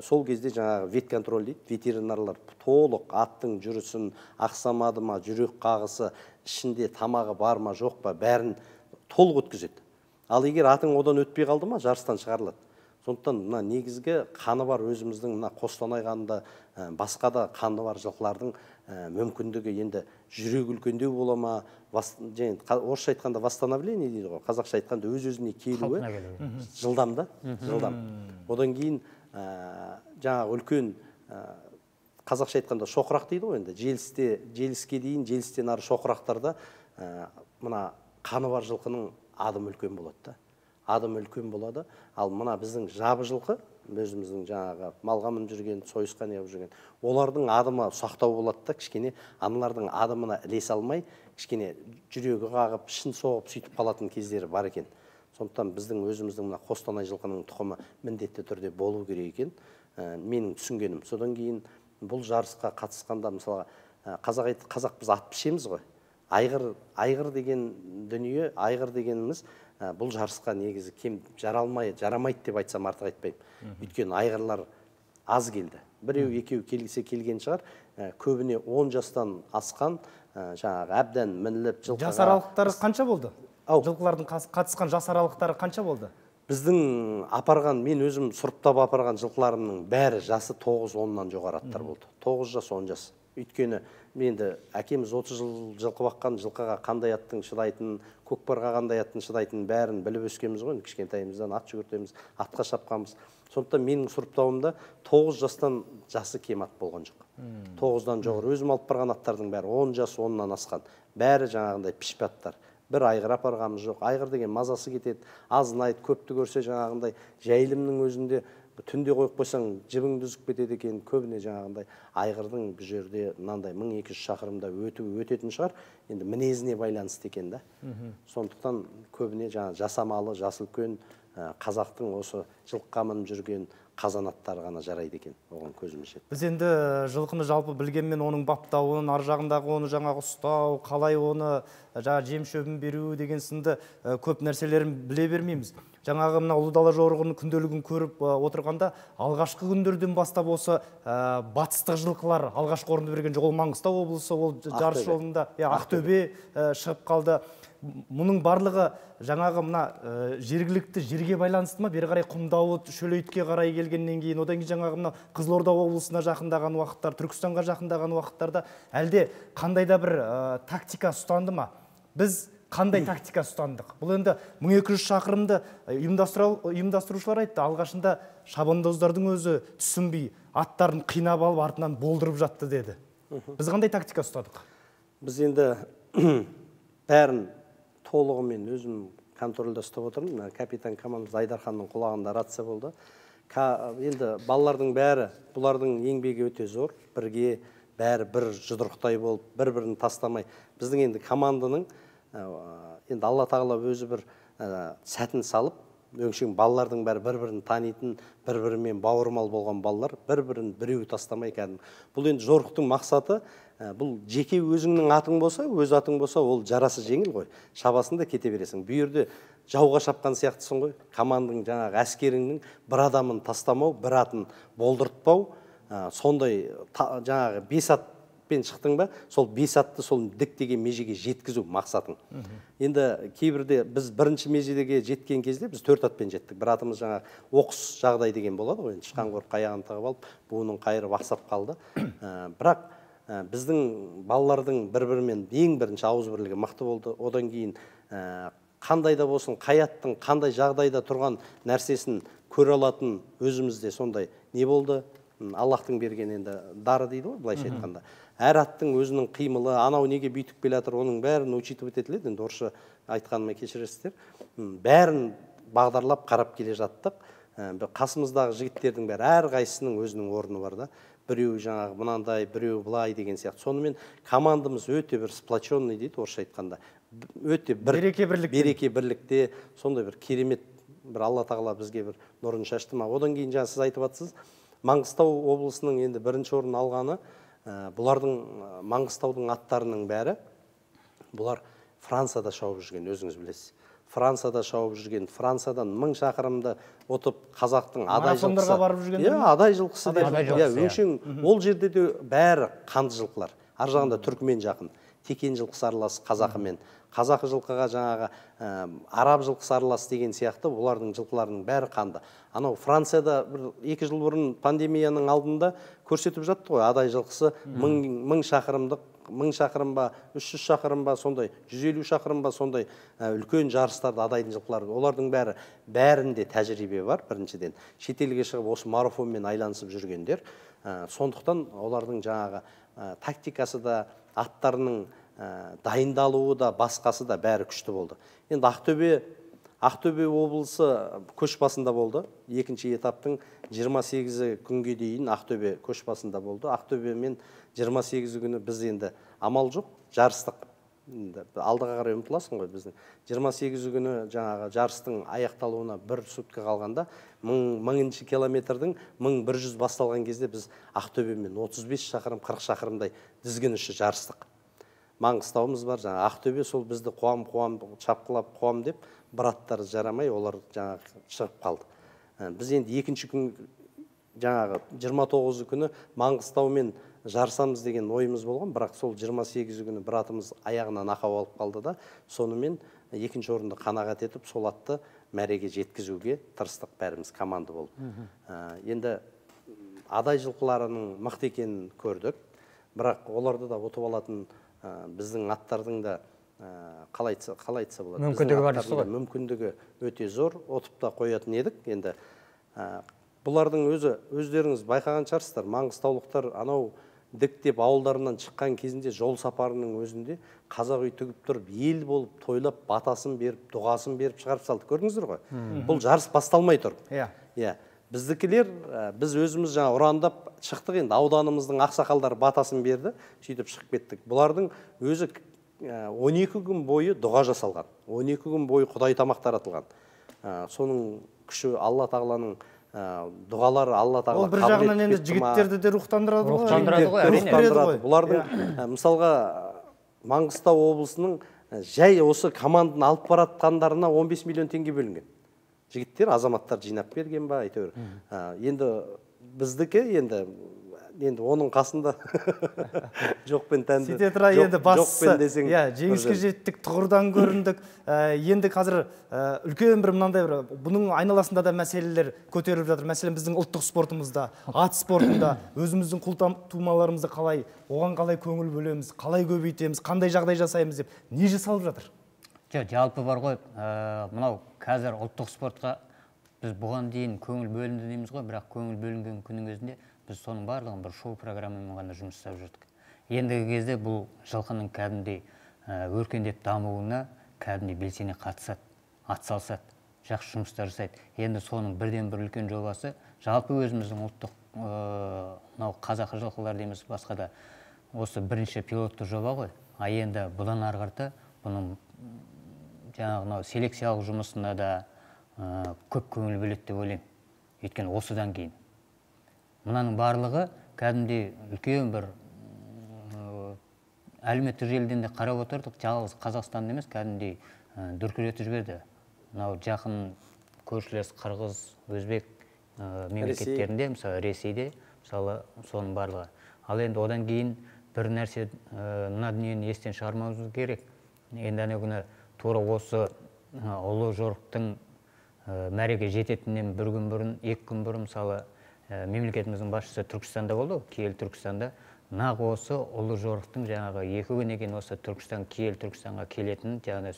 Сол кезде жаңағы ветконтроль дейді, ветеринарлар толық аттың жүрісін, ақсамады ма, жүрек қағысы, ішінде тамағы бар ма, жоқ па, бәрін толық өткізеді. Ал егер атың одан өтпей қалды ма, жарыстан шығарылады. Сондықтан мына негізгі қаны бар өзіміздің мына Қостанай қанында, басқа да қаны бар жылқылардың мүмкіндігі енді жүрек үлкендеу бола ма, орысша айтқанда восстановление дейді ғой, қазақша айтқанда өз-өзіне келуі жылдам да, жылдам. Одан кейін жаңағы үлкен қазақша айтқанда шоқырақ дейді ғой енді, желіске дейін, желістен ары шоқырақтарда мына қаны бар жылқының адым үлкен болады да. Адым үлкен болады. Ал мына біздің жабы жылқы, өзіміздің жаңағы малға мініп жүрген, сойысқа неғып жүрген, олардың адымы сақтау болады да, кішкене аналардың адымына ілесе алмай, кішкене жүрегі қағып, ішін соғып сөйтіп қалатын кездері бар екен. Сондықтан біздің өзіміздің мына Қостанай жылқының тұқымы міндетті түрде болу керек екен. Менің түсінгенім. Содан кейін бұл жарысқа қатысқанда мысалға қазақ қазақ біз ат пішеміз ғой. Айғыр, айғыр деген дүние, айғыр дегеніміз бұл жарысқа негізі кем жаралмай, жарамайды деп айтсам артық айтпаймын. Өйткені айғырлар аз келді. Біреу, екеу келгісе келген шығар. Көбіне он жастан асқан, жаңағы әбден мініліп жылқыға. Жас аралықтары қанша болды? Жылқылардың қатысқан жас аралықтары қанша болды? біздің апарған, мен өзім сұрыптап апарған жылқыларымның бәрі жасы тоғыз оннан жоғары аттар болды. тоғыз жас, он жас. Өйткені менді әкеміз отыз жыл жылқы баққан, жылқыға қандай аттың шыдайтынын, көкпарға қандай аттың шыдайтынын бәрін біліп өскенбіз ғой. Кішкентайымыздан ат жүгіртеміз, атқа шапқанбыз. Сондықтан менің сұрыптауымда тоғыз жастан жасы кем ат болған жоқ. тоғыздан жоғары. Өзім алып барған аттардың бәрі он жас, оннан асқан. Бәрі жаңағындай пішпе аттар. Бір айғыр апарғанымыз жоқ. Айғыр деген мазасы кетеді. Азынайды, көпті көрсе жаңағындай жайылымның өзінде түнде қойып қойсаң жібіңді үзіп кетеді екен. Көбіне жаңағындай айғырдың бұл жерде мынандай мың екі жүз шақырымда өтуі өтетін шығар. Енді мінезіне байланысты екен да. Сондықтан көбіне жаңа жасамалы, жасы үлкен қазақтың осы жылқыға мініп жүрген қазанаттары ғана жарайды екен, оған көзіміз жетті. Біз енді жылқыны жалпы білгенмен оның баптауын, ар жағындағы оны жаңағы ұстау, қалай оны жаңа жем шөбін беру деген сынды көп нәрселерін біле бермейміз. Жаңағы мына ұлы дала жорығының күнделігін көріп отырғанда алғашқы күндерден бастап осы батыстық жылқылар алғашқы орынды берген жоқ. Ол Маңғыстау облысы, ол жарыс жолында Ақтөбе шығып қалды. Мұның барлығы жаңағы мына жергілікті жерге байланысты ма? Бері қарай Құмдауыт, Шөлейтке қарай келгеннен кейін, одан кейін жаңағы мына Қызылорда облысына жақындаған уақыттар, Түркістанға жақындаған уақыттарда әлде қандай да бір тактика ұстанды ма? Біз қандай тактика ұстандық? Бұл енді мың екі жүз шақырымды ұйымдастырушылар айтты. Алғашында шабандоздардың өзі түсінбей, аттарын қинап алып, артынан болдырып жатты деді. Біз қандай тактика ұстадық? Біз енді бәрін толығымен өзім контрольда ұстап отырмын. Капитан командамыз Айдарханның құлағында рация болды. Енді балалардың бәрі, бұлардың еңбегі өте зор. Бірге бәрі бір жұдырықтай болып, бір-бірін тастамай. Біздің енді команданың енді Алла тағала өзі бір сәтін салып, өңшең балалардың бәрі бір-бірін танитын, бір-бірімен бауырмал болған балалар, бір-бірін біреу тастамай кәдімгі. Бұл енді жорықтың мақсаты, бұл жеке өзіңнің атың болса, өз атың болса, ол жарасы жеңіл ғой. Шабасында кете бересің. Bu жерде жауға шапқан сияқтысың ғой. Команданың жаңағы әскеріңнің бір адамын тастамау, бір атын болдыртпау, сондай жаңағы бес атпен шықтың ба, сол бес атты сол діттеген межеге жеткізу мақсатың. Енді кейбірде біз бірінші межеге жеткен кезде біз төрт атпен жеттік. Бір атымыз жаңағы оқыс жағдай деген болады ғой. Шыққан көріп қаяғын тағып алып, буының қайырып ақсап қалды. Бірақ біздің балалардың бір-бірімен ең бірінші ауыз бірлігі мықты болды. Одан кейін қандай да болсын, қаяттың қандай жағдайда тұрған нәрсесін көре алатын өзімізде сондай не болды? Аллахтың берген енді дары дейді ғой, былайша айтқанда. Әр аттың өзінің қимылы, анау неге бүйтіп келе жатыр, оның бәрін учитывать етіледі. Енді орысша айтқаныма кешіресіздер. Бәрін бағдарлап қарап келе жаттық. Қасымыздағы жігіттердің бәрі әр қайсысының өзінің орны бар да. Біреу жаңағы мынандай, біреу былай деген сияқты. Сонымен командамыз өте бір сплоченный дейді орысша айтқанда. Өте бір береке бірлікте. Береке бірлікте сондай бір керемет бір Алла тағала бізге бір нұрын шашты ма. Одан кейін жаңа сіз айтып жатсыз, Маңғыстау облысының енді бірінші орын алғаны, бұлардың Маңғыстаудың аттарының бәрі, бұлар Францияда шауып жүрген, өзіңіз білесіз. Францияда шауып жүрген, Франциядан мың шақырымды отып қазақтың адай жылқысы. Марафондарға барып жүрген. Иә, адай жылқысы деп. Иә, өңшең ол жерде де бәрі қанды жылқылар. Ар жағында түркімен жақын. Текен жылқысы аралас қазақымен. Қазақы жылқыға жаңағы араб жылқысы аралас деген сияқты олардың жылқыларының бәрі қанды. Анау Францияда бір екі жыл бұрын пандемияның алдында көрсетіп жатты ғой, адай жылқысы мың шақырымдық, мың шақырым ба, үш жүз шақырым ба, сондай жүз елу шақырым ба, сондай үлкен жарыстарды адайдың жылқылары. Олардың бәрі бәрінде тәжірибе бар, біріншіден. Шетелге шығып осы марафонмен айланысып жүргендер. Сондықтан олардың жаңағы тактикасы да, аттарының дайындалуы да, басқасы да бәрі күшті болды. Енді Ақтөбе Ақтөбе облысы көш басында болды. Екінші этаптың жиырма сегізі күнге дейін Ақтөбе көш басында болды. Ақтөбемен жиырма сегізі күні біз енді амал жоқ, жарыстық. Алдыға қарай ұмтыласың ғой біздің. жиырма сегізі күні жаңағы жарыстың аяқталуына бір сутка қалғанда, мыңыншы километрдің мың бір жүз басталған кезде біз Ақтөбемен отыз бес шақырым, қырық шақырымдай дізгін үші жарыстық. Маңғыстауымыз бар, жаңа Ақтөбе сол бізді қуам-қуам, шапқылап қуам деп, бір аттары жарамай, олар жаңағы шығып қалды. Біз енді екінші күн жаңағы жиырма тоғызы күні Маңғыстаумен жарысамыз деген ойымыз болған, бірақ сол жиырма сегізі күні бір атымыз аяғынан ақау алып қалды да, сонымен екінші орынды қанағат етіп, сол атты мәреге жеткізуге тырыстық бәріміз команда болып. Енді адай жылқыларының мықты екенін көрдік, бірақ оларды да ұтып алатын біздің аттардың да қалай айтса болады, мүмкіндігі бар дейсіз ғой. мүмкіндігі өте зор, ұтып та қоятын едік. Енді бұлардың өзі өздеріңіз байқаған шығарсыздар, маңғыстаулықтар анау дік деп ауылдарынан шыққан кезінде жол сапарының өзінде қазақ үй тігіп тұрып, ел болып, тойлап, батасын беріп, дұғасын беріп шығарып салды. Көрдіңіздер ғой? Бұл жарыс басталмай тұр. Иә. Біздікілер, біз өзіміз жаңа ұрандап шықтық, енді ауданымыздың ақсақалдары батасын берді, сөйтіп шығып кеттік. Бұлардың өзі он екі күн бойы дұға жасалған, он екі күн бойы Құдай тамақ таратылған. Соның күші Алла тағаланың дұғалары, Алла тағала ол бір жағынан енді жігіттерді де рухтандырады ғой. Рухтандырады ғой. Бұлардың мысалға Маңғыстау облысының жай осы команданы алып баратқандарына он бес миллион теңге бөлінген. Жігіттер, азаматтар жинап берген ба, әйтеуір. Енді біздікі енді енді оның қасында жоқпен тәнді. Сөйте тұра енді бастысы, жеңіске жеттік, тұғырдан көріндік. Енді қазір үлкен бір мынандай бір, бұның айналасында да мәселелер көтеріліп жатыр. Мәселен, біздің ұлттық спортымызда, ат спортында, өзіміздің құлтумаларымызды қалай, оған қалай көңіл бөлеміз, қалай көбейтеміз, қандай жағдай жасаймыз деп, не жасалып жатыр? Жоқ, жалпы бар ғой, мынау қазір ұлттық спортқа біз бұған дейін көңіл бөлінді дейміз ғой, бірақ көңіл бөлінген күннің өзінде біз соның барлығын бір шоу программамен ғана жұмыс жасап жүрдік. Ендігі кезде бұл жылқының кәдімгідей өркендеп дамуына кәдімгідей белсене қатысады, атсалысады, жақсы жұмыстар жасайды. Енді соның бірден бір үлкен жобасы, жалпы өзіміздің ұлттық мынау қазақы жылқылар дейміз, басқа да осы бірінші пилотты жоба ғой. А енді бұдан ары қарата бұның жаңағы селекциялық жұмысына да көп көңіл бөледі деп ойлаймын. Өйткені осыдан кейін мынаның барлығы кәдімгідей үлкен бір әлеуметтік желіден де қарап отырдық, жалғыз Қазақстан емес, кәдімгідей дүркіретіп жіберді. Мынау жақын көршілес қырғыз, өзбек мемлекеттерінде, мысалы Ресейде, мысалы соның барлығы. Ал енді одан кейін бір нәрсе, мына дүниені естен шығармауымыз керек. Енді ана күні тура осы ұлы жорықтың мәреге жететінен бір күн бұрын, екі күн бұрын, мысалы мемлекетіміздің басшысы Түркістанда болды, Киелі Түркістанда. Нақ осы ұлы жорықтың жаңағы екі күн екен осы Түркістан, Киелі Түркістанға келетінін жаңағы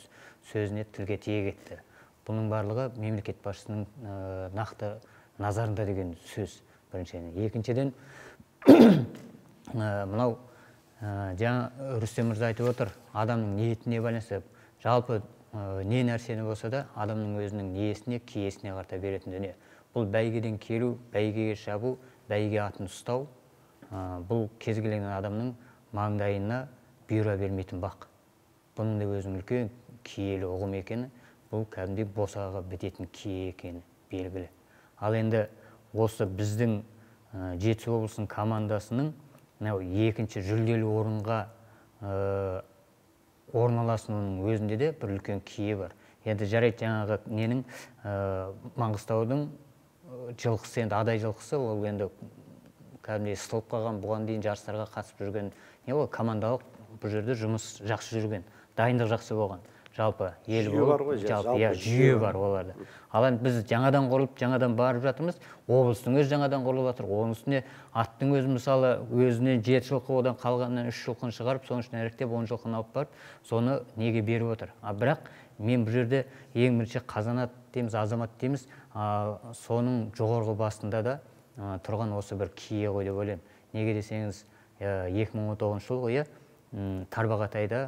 сөзіне тілге тиек етті. Бұның барлығы мемлекет басшысының нақты назарында деген сөз біріншіден. Екіншіден, мынау жаңа Рүстем мырза айтып отыр, адамның ниетіне байланысты. Жалпы не нәрсені болса да адамның өзінің ниесіне, киесіне қарата беретін дүние. Бұл бәйгеден келу, бәйгеге шабу, бәйге атын ұстау, бұл кез келген адамның маңдайына бұйыра бермейтін бақ. Бұның да өзінің үлкен киелі ұғым екені, бұл кәдімгідей босаға бітетін кие екені белгілі. Ал енді осы біздің Жетісу облысының командасының екінші жүлделі орынға орналасуының өзінде де бір үлкен кие бар. Енді жарайды, жаңағы ненің Маңғыстаудың жылқысы, енді адай жылқысы, ол енді кәдімгідей сытылып қалған, бұған дейін жарыстарға қатысып жүрген, не ол командалық бұл жерде жұмыс жақсы жүрген, дайындық жақсы болған. Жалпы ел болып, жалпы жүйе бар оларда. Ал енді біз жаңадан құрылып, жаңадан барып жатырмыз, облыстың өзі жаңадан құрылып жатыр. Оның үстіне аттың өзі мысалы өзіне жеті жылқы, одан қалғаннан үш жылқыны шығарып, соның ішіне іріктеп он жылқыны алып барып, соны неге беріп отыр. А бірақ мен бұл жерде ең бірінші қазанат дейміз, азамат дейміз, соның жоғарғы басында да тұрған осы бір кие ғой деп ойлаймын. Неге десеңіз, екі мың он тоғызыншы жылғы Тарбағатайда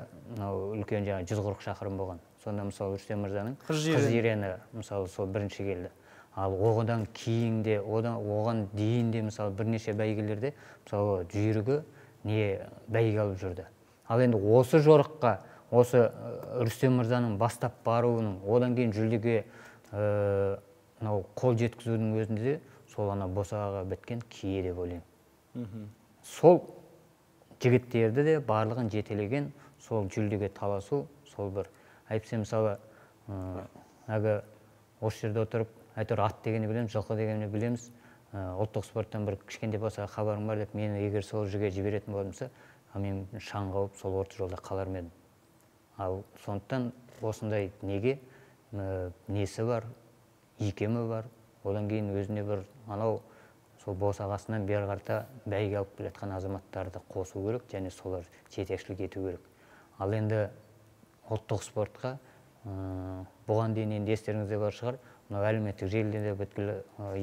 үлкен жаңа жүз қырық шақырым болған. Сонда мысалы Рүстем мырзаның қыз жирені мысалы сол бірінші келді. Ал оған кейінде, оған дейінде мысалы бірнеше бәйгелерде мысалы жүйрігі не бәйге алып жүрді. Ал енді осы жорыққа, осы Рүстем мырзаның бастап баруының, одан кейін жүлдеге қол жеткізудің өзінде де сол ана босағаға біткен кие деп ойлаймын. Сол жігіттерді де барлығын жетелеген, сол жүлдеге таласу, сол бір әйтпесе мысалы әгі осы жерде отырып, әйтеуір ат дегенді білеміз, жылқы дегенді білеміз, ұлттық спорттан бір кішкентай болса хабарым бар деп, мені егер сол жерге жіберетін болдымса, мен шаң қауып сол орта жолда қалар едім. Ал сондықтан осындай неге несі бар, икемі бар. Одан кейін өзіне бір анау сол босағасынан бері қарта бәйге алып келатқан азаматтарды қосу керек, және солар жетекшілік ету керек. Ал енді ұлттық спортқа бұған дейін енді естеріңізде бар шығар, мынау әлеуметтік желіде бүткіл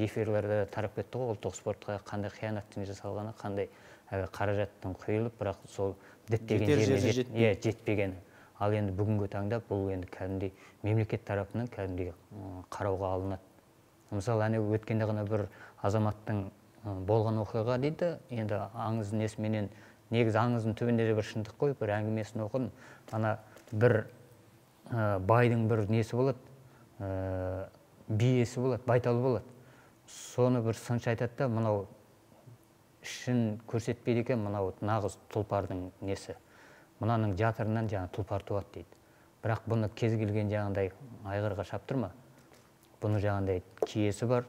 эфирлерде тарап кетті ғой, ұлттық спортқа қандай қиянаттың жасалғаны, қандай қаражаттың құйылып, бірақ сол діттеген жеріне жетпегені. Ал енді бүгінгі таңда бұл енді кәдімгідей мемлекет тарапынан кәдімгідей қарауға алынады. Мысалы, әне өткенде ғана бір азаматтың болған оқиға дейді, енді аңыз несіменен, негізі аңыздың түбінде де бір шындық қой, бір әңгімесін оқыдым. Ана бір байдың бір несі болады, биесі болады, байталы болады. Соны бір сыншы айтады да, мынау ішін көрсетпейді екен, мынау нағыз тұлпардың несі. Мынаның жатырынан жаңа тұлпар туады дейді. Бірақ бұны кез келген жаңағындай айғырға шаптырма. Бұны жаңағындай киесі бар,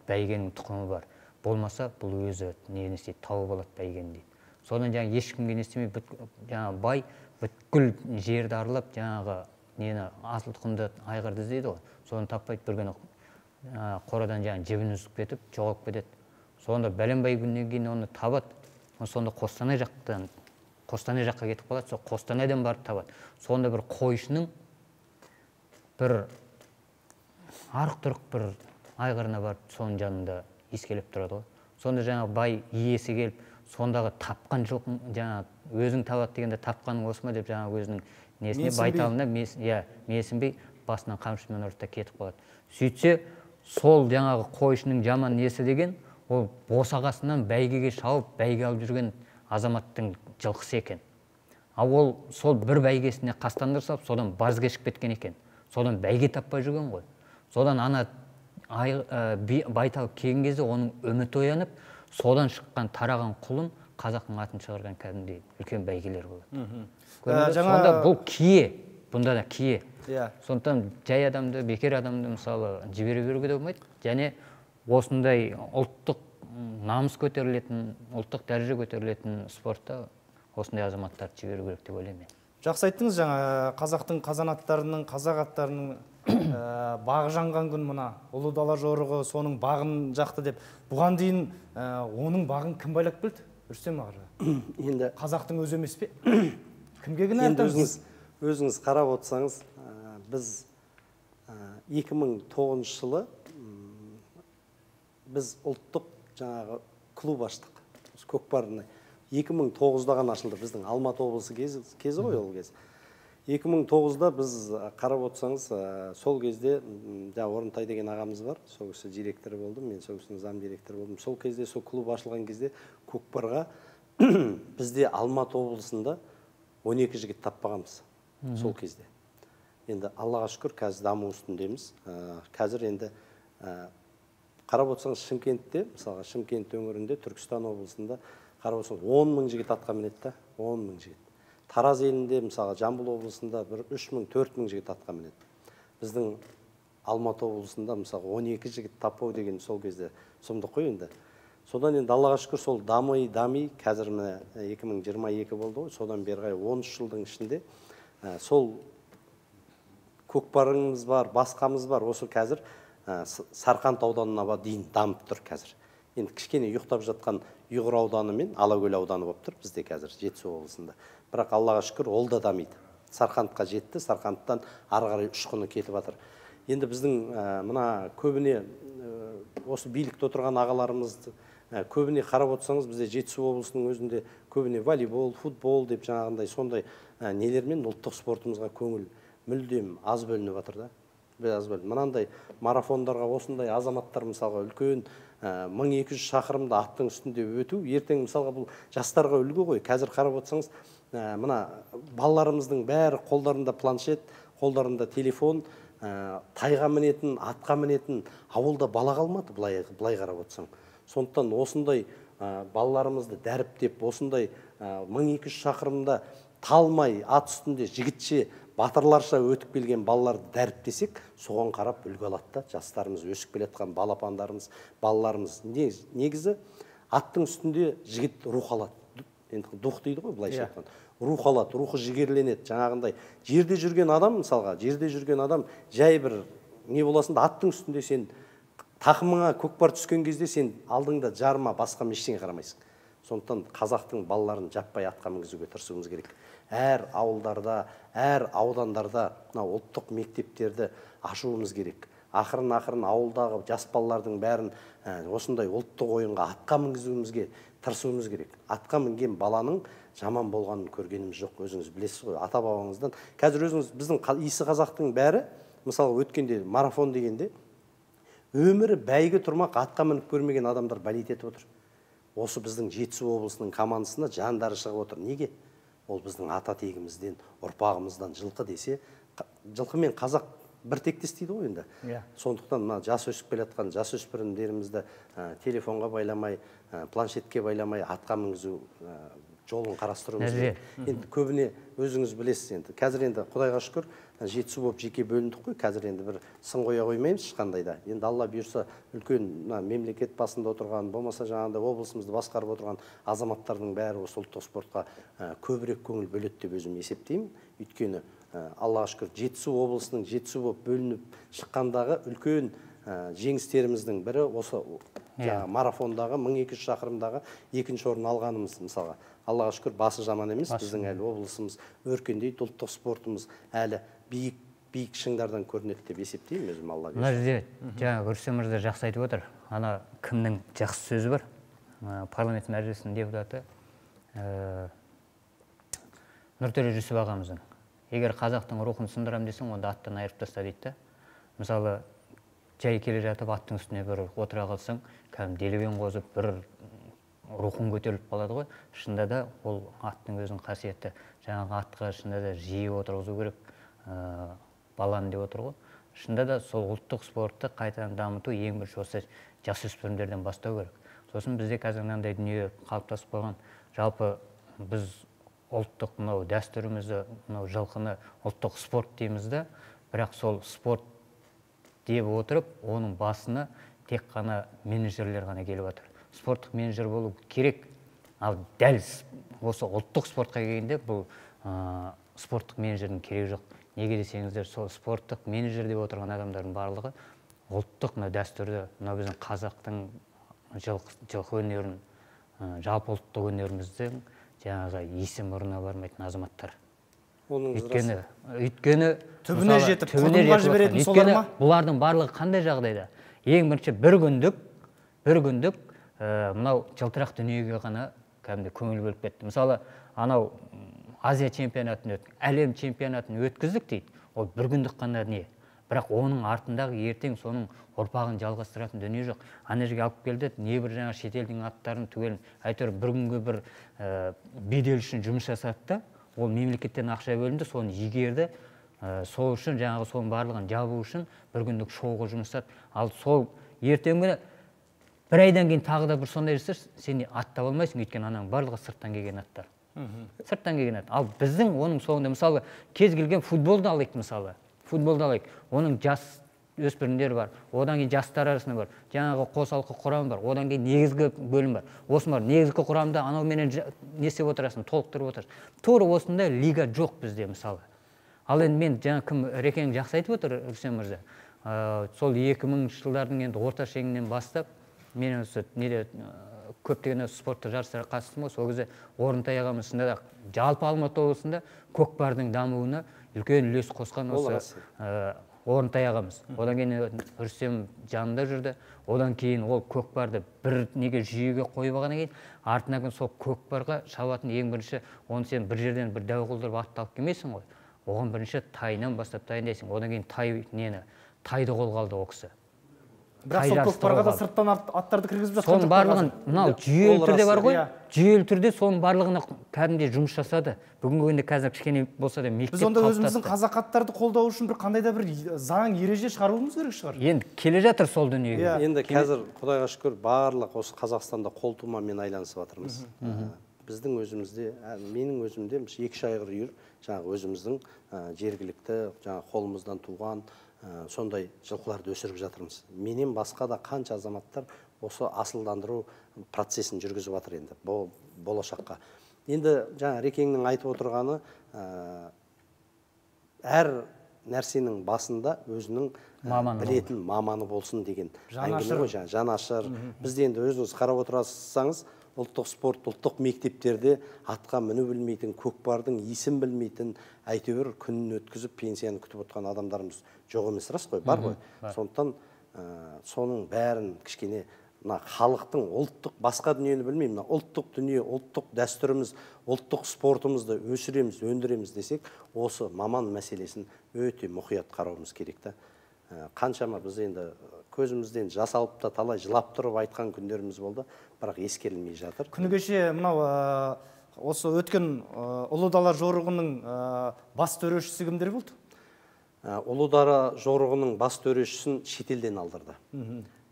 бәйгенің тұқымы бар. Болмаса бұл өзі нені істейді, тауып алады бәйгені дейді. Содан жаңа ешкімге не істемей, жаңа бай бүткіл жерді аралап, жаңағы нені асыл тұқымды айғырды іздейді ғой. Соны таппайды, бір күні қорадан жаңа жібін үзіп кетіп, жоғалып кетеді. Сонда бәленбай күннен кейін оны табады. Сонда Қостанай жақтан, Қостанай жаққа кетіп қалады, сол Қостанайдан барып табады. Сонда бір қойшының бір арық-тұрық бір айғырына барып, соның жанында ескелеп тұрады ғой. Сонда жаңа бай иесі келіп, сондағы тапқан жылқын, жаңа өзің табады дегенде тапқаның осы ма деп жаңа өзінің несіне байталына менсінбей басынан қамшымен ұрып та кетіп қалады. Сөйтсе, сол жаңағы қойшының жаман несі деген, ол босағасынан бәйгеге шауып, бәйге алып жүрген азаматтың жылқысы екен. Ал ол сол бір бәйгесіне қастандырса, содан баз кешіп кеткен екен. Содан бәйге таппай жүрген ғой. Содан ана байтал келген кезде оның үміті оянып, содан шыққан тараған құлын қазақтың атын шығарған кәдімгідей үлкен бәйгелер болады. Сонда бұл кие, бұнда да кие. Сондықтан жай адамды, бекер адамды мысалы жібере беруге де болмайды. Және осындай ұлттық намыс көтерілетін, ұлттық дәреже көтерілетін спортта осындай азаматтарды жіберу керек деп ойлаймын. Жақсы айттыңыз, жаңа қазақтың қазанаттарының, қазақ аттарының бағы жанған күн мына ұлы дала жорығы соның бағын жақты деп. Бұған дейін оның бағын кім байлап келді? Рүстем аға. Енді қазақтың өзі емес пе? Кімге кінә айтамыз? Өзіңіз қарап отырсаңыз, біз екі мың тоғызыншы жылы біз ұлттық жаңағы клуб аштық. Көкпардың екі мың тоғызда ғана ашылды, біздің Алматы облысы кезі ғой ол кез. екі мың тоғызда біз қарап отырсаңыз, сол кезде Орынтай деген ағамыз бар, сол кісі директоры болды, мен сол кісінің зам директоры болдым. Сол кезде, сол клуб ашылған кезде көкпарға бізде Алматы облысында он екі жігіт таппағанбыз сол кезде. Енді Аллаға шүкір, қазір даму үстіндеміз. Қазір енді қарап отырсаңыз, Шымкентте, мысалға Шымкент өңірінде, Түркістан облысында қарап отырсаңыз, он мың жігіт атқа мінеді, он мың жігіт. Тараз елінде, мысалы, Жамбыл облысында бір үш мың, төрт мың жігіт атқа мінеді. Біздің Алматы облысында, мысалы, он екі жігіт таппау деген сол кезде сұмдық қой енді. Содан енді Аллаға шүкір сол дамый, дамый, қазір екі мың жиырма екі болды ғой, содан бері қарай он үш жылдың ішінде сол көкпарымыз бар, басқамыз бар, осы қазір Сарқанд ауданына дейін дамып тұр қазір. Енді кішкене ұйықтап жатқан Ұйғыр ауданы мен Алакөл ауданы болып тұр бізде қазір Жетісу облысында. Бірақ Аллаға шүкір ол да дамиды. Сарқандқа жетті, Сарқандтан ары қарай ұшқыны кетіп жатыр. Енді біздің мына көбіне осы билікте отырған ағаларымызды көбіне қарап отырсаңыз, бізде Жетісу облысының өзінде көбіне волейбол, футбол деп жаңағындай сондай нелермен ұлттық спортымызға көңіл мүлдем аз бөлініп жатыр да. Аз бөлініп. Мынандай марафондарға осындай азаматтар мысалға үлкен мың екі жүз шақырымды аттың үстінде өту, ертең мысалға бұл жастарға үлгі ғой. Қазір қарап отырсаңыз, мына балаларымыздың бәрі қолдарында планшет, қолдарында телефон, тайға мінетін, атқа мінетін, ауылда бала қалмады, былай қарап отырсаң. Сондықтан осындай балаларымызды дәріптеп, осындай мың екі жүз шақырымда талмай, ат үстінде жігітше, батырларша өтіп келген балаларды дәріптесек, соған қарап үлгі алады да, жастарымыз, өсіп келатқан балапандарымыз, балаларымыз. Негізі аттың үстінде жігіт рух алады. енді дух дейді ғой былайша айтқанда. Рух алады, рухы жігерленеді. Жаңағындай жерде жүрген адам, мысалға, жерде жүрген адам жай бір не боласың да аттың үстінде сен тақымыңа көкпар түскен кезде сен алдыңда жарма басқа ештеңе қарамайсың. Сондықтан қазақтың балаларын жаппай атқа мінгізуге тырысуымыз керек. Әр ауылдарда, әр аудандарда мына ұлттық мектептерді ашуымыз керек. Ақырын-ақырын ауылдағы жас балалардың бәрін осындай ұлттық ойынға атқа мінгізуімізге тырысуымыз керек. Атқа мінген баланың жаман болғанын көргеніміз жоқ, өзіңіз білесіз ғой, ата-бабаңыздан. Қазір өзіңіз біздің иісі қазақтың бәрі, мысалы өткенде марафон дегенде, өмірі бәйгі тұрмақ атқа мініп көрмеген адамдар болеть етіп отыр. Осы біздің Жетісу облысының командасына жандары шығып отыр. Неге? Ол біздің ата тегімізден, ұрпағымыздан жылқы десе, жылқы мен қазақ бір тектес дейді ғой енді. Сондықтан мына жас өсіп келе жатқан жасөспірімдерімізді телефонға байламай, планшетке байламай атқа мінгізу жолын қарастыруымыз керек. Енді көбіне өзіңіз білесіз енді. Қазір енді Құдайға шүкір Жетісу болып жеке бөліндік қой. Қазір енді бір сын қоя қоймаймыз ешқандай да. Енді Алла бұйырса үлкен мемлекет басында отырған, болмаса жаңағындай облысымызды басқарып отырған азаматтардың бәрі осы ұлттық спортқа көбірек көңіл бөледі деп өзім есептеймін. Өйткені Аллаға шүкір Жетісу облысының Жетісу болып бөлініп шыққандағы үлкен жеңістеріміздің бірі осы марафондағы мың екі жүз шақырымдағы екінші орын алғанымыз. Мысалға Аллаға шүкір басы жаман емес, біздің әлі облысымыз өркендейді, ұлттық спортымыз әлі биік биік шыңдардан көрінеді деп есептеймін өзім. Алла мына жерде жаңағы Рүстем мырза жақсы айтып отыр. Ана кімнің жақсы сөзі бар? Парламент мәжілісінің депутаты Нұртөре Жүсіп ағамыздың. Егер қазақтың рухын сындырам десең, онда аттан айырып таста дейді. Мысалы, жай келе жатып аттың үстіне бір отыра қалсаң, кәдімгі делебен қозып бір рухың көтеріліп қалады ғой. Шынында да ол аттың өзінің қасиеті. Жаңағы атқа шынында да жиі отырғызу керек, баланы деп отыр ғой. Шынында да сол ұлттық спортты қайтадан дамыту ең бірінші осы жасөспірімдерден бастау керек. Сосын бізде қазір мынандай дүние қалыптасып қойған. Жалпы біз ұлттық мынау дәстүрімізді, мынау жылқыны ұлттық спорт дейміз да, бірақ сол спорт деп отырып, оның басына тек қана менеджерлер ғана келіп отыр. Спорттық менеджер болу керек, ал дәл осы ұлттық спортқа келгенде бұл спорттық менеджердің керегі жоқ. Неге десеңіздер, сол спорттық менеджер деп отырған адамдардың барлығы ұлттық дәстүрді, мынау біздің қазақтың жылқы өнерін, жалпы ұлттық өнеріміздің жаңағы есі мұрнына бармайтын азаматтар. Өйткені өйткені түбіне жетіп құрдымға жіберетін солар ма? Бұлардың барлығы қандай жағдайда? Ең бірінші бір күндік, бір күндік мынау жылтырақ дүниеге ғана кәдімгі көңіл бөліп кетті. Мысалы, анау Азия чемпионатын өттік, әлем чемпионатын өткіздік дейді. Ол бір күндік қана не? Бірақ оның артындағы ертең соның ұрпағын жалғастыратын дүние жоқ. Ана жерге алып келді, не бір жаңа шетелдің аттарын түгелін әйтеуір бір күнге бір бедел үшін жұмыс жасады да, ол мемлекеттен ақша бөлінді, соны игерді, сол үшін жаңағы соның барлығын жабу үшін бір күндік шоуға жұмыс жасады. Ал сол ертең күні бір айдан кейін тағы да бір сондай жасар, сен аттап алмайсың, өйткені ананың барлығы сырттан келген аттар. Сырттан келген ат. Ал біздің оның соңында мысалы кез келген футболды алайық мысалы. Футболды алайық. Оның жас өспірімдер бар, одан кейін жастар арасында бар, жаңағы қосалқы құрам бар, одан кейін негізгі бөлім бар. Осы бар, негізгі құрамда анау менен не істеп отырасың, толықтырып отырасың. Тура осындай лига жоқ бізде мысалы. Ал енді мен жаңа кім Рекең жақсы айтып отыр, Рүстем мырза. Сол екі мыңыншы жылдардың енді орта шегінен бастап мен осы неде көптеген спортты жарыстарға қатыстым ғой. Сол кезде Орынтай ағамыздың да жалпы Алматы облысында көкпардың дамуына үлкен үлес қосқан осы Орынтай ағамыз. Одан кейін Рүстем жанында жүрді. Одан кейін ол көкпарды бір неге жүйеге қойып алғаннан кейін артынан сол көкпарға шабатын ең бірінші, оны сен бір жерден бір дәу қылдырып атты алып келмейсің ғой. Оған бірінші тайынан бастап дайындайсың. Одан кейін тай нені, тайды қолға алды ол кісі. Бірақ сол көкпарға да сырттан аттарды кіргізіп жатқан жоқ. Соның барлығын мынау жүйелі түрде бар ғой. Жүйелі түрде соның барлығына кәдімгідей жұмыс жасады. Бүгінгі күнде қазір кішкене болса да мектеп қалыптасты. Біз онда өзіміздің қазақ аттарды қолдау үшін бір қандай да бір заң ереже шығаруымыз керек шығар. Енді келе жатыр сол дүниеге. Енді қазір Құдайға шүкір барлық осы Қазақстанда қолтумамен айланысып жатырмыз. Біздің өзімізде, менің өзімде екі шайғыр үйір, жаңағы өзіміздің жергілікті, жаңағы қолымыздан туған сондай жылқыларды өсіріп жатырмыз. Менен басқа да қанша азаматтар осы асылдандыру процесін жүргізіп жатыр енді болашаққа. Енді жаңа Рекеңнің айтып отырғаны, әр нәрсенің басында өзінің білетін маманы болсын деген әңгіме ғой, жаңа жанашыр. Бізде енді өзіңіз қарап отырсаңыз, ұлттық спорт, ұлттық мектептерде атқа міну білмейтін, көкпардың исін білмейтін, әйтеуір күнін өткізіп пенсияны күтіп отқан адамдарымыз жоқ емес, рас қой, бар ғой. Сондықтан соның бәрін кішкене халықтың ұлттық басқа дүниені білмеймін, ұлттық дүние, ұлттық дәстүріміз, ұлттық спортымызды өсіреміз, өндіреміз десек, осы маман мәселесін өте мұқият қарауымыз керек та. Қаншама біз енді көзімізден жас алып та талай жылап тұрып айтқан күндеріміз болды, бірақ ескерілмей жатыр. Күні кеше мынау осы өткен ұлы дала жорығының бас төрешісі кімдер болды? Ұлы дала жорығының бас төрешісін шетелден алдырды.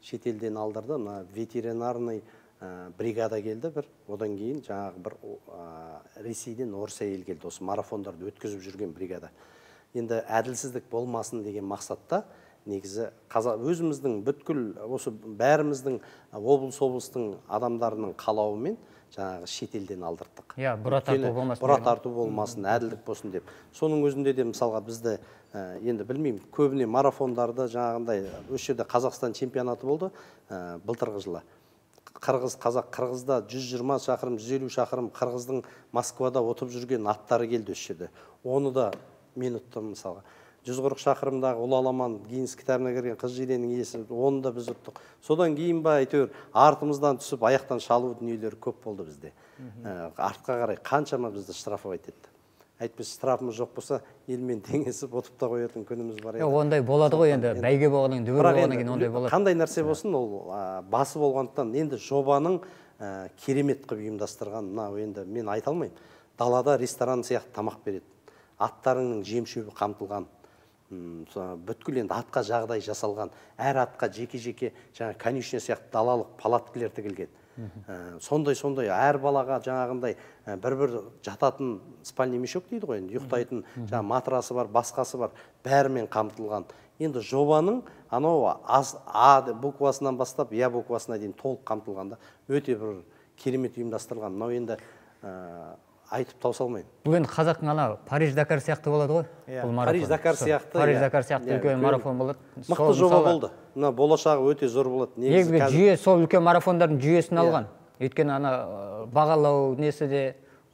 Шетелден алдырды, ветеринарный бригада келді бір, одан кейін жаңағы бір Ресейден орыс әйел келді, осы марафондарды өткізіп жүрген бригада. Енді әділсіздік болмасын деген мақсатта, негізі өзіміздің бүткіл, осы бәріміздің облыс-облыстың адамдарының қалауымен жаңағы шетелден алдырдық. Иә, бұра тарту болмасын. Бұра тарту болмасын, әділдік болсын деп. Соның өзінде де мысалға бізді, енді білмеймін, көбіне марафондарды жаңағындай, өз жерде Қазақстан чемпионаты болды былтырғы жылы. Қырғыз, қазақ, Қырғызда жүз жиырма шақырым, жүз елу шақырым Қырғыздың Москвада отып жүрген аттары келді өз жерде. Оны да мен ұттым мысалға. жүз қырық шақырымдағы ұлы аламан Гиннес кітабына кірген қыз жиреннің иесі, оны да біз ұттық. Содан кейін ба әйтеуір артымыздан түсіп аяқтан шалу дүниелері көп болды бізде. Артқа қарай қаншама бізді штрафовать етті. Әйтпесе штрафымыз жоқ болса, елмен теңесіп отып та қоятын күніміз бар еді. Ондай болады ғой енді, бәйге болғаннан дүбір болғаннан кейін ондай болады. Қандай нәрсе болсын, ол басы болғандықтан енді жобаның керемет қылып ұйымдастырған, мынау енді мен айта алмаймын. Далада ресторан сияқты тамақ береді. Аттарыңның жем-шөбі қамтылған. Бүткіл енді атқа жағдай жасалған. Әр атқа жеке-жеке жаңа конюшня сияқты далалық палаткалар тігілген. Сондай-сондай әр балаға жаңағындай бір-бір жататын спальный мешок дейді ғой, ұйықтайтын жаңа матрасы бар, басқасы бар, бәрімен қамтылған. Енді жобаның анау А буквасынан бастап Я буквасына дейін толық қамтылғанда өте бір керемет ұйымдастырылған. Мынау енді айтып таусалмайын. Бұл енді қазақтың ана Париж-Дакар сияқты болады ғой. Париж-Дакар сияқты. Париж-Дакар сияқты үлкен марафон болады. Мықты жоба болды. Мына болашағы өте зор болады. Негізгі жүйе сол үлкен марафондардың жүйесін алған. Өйткені ана бағалау несі де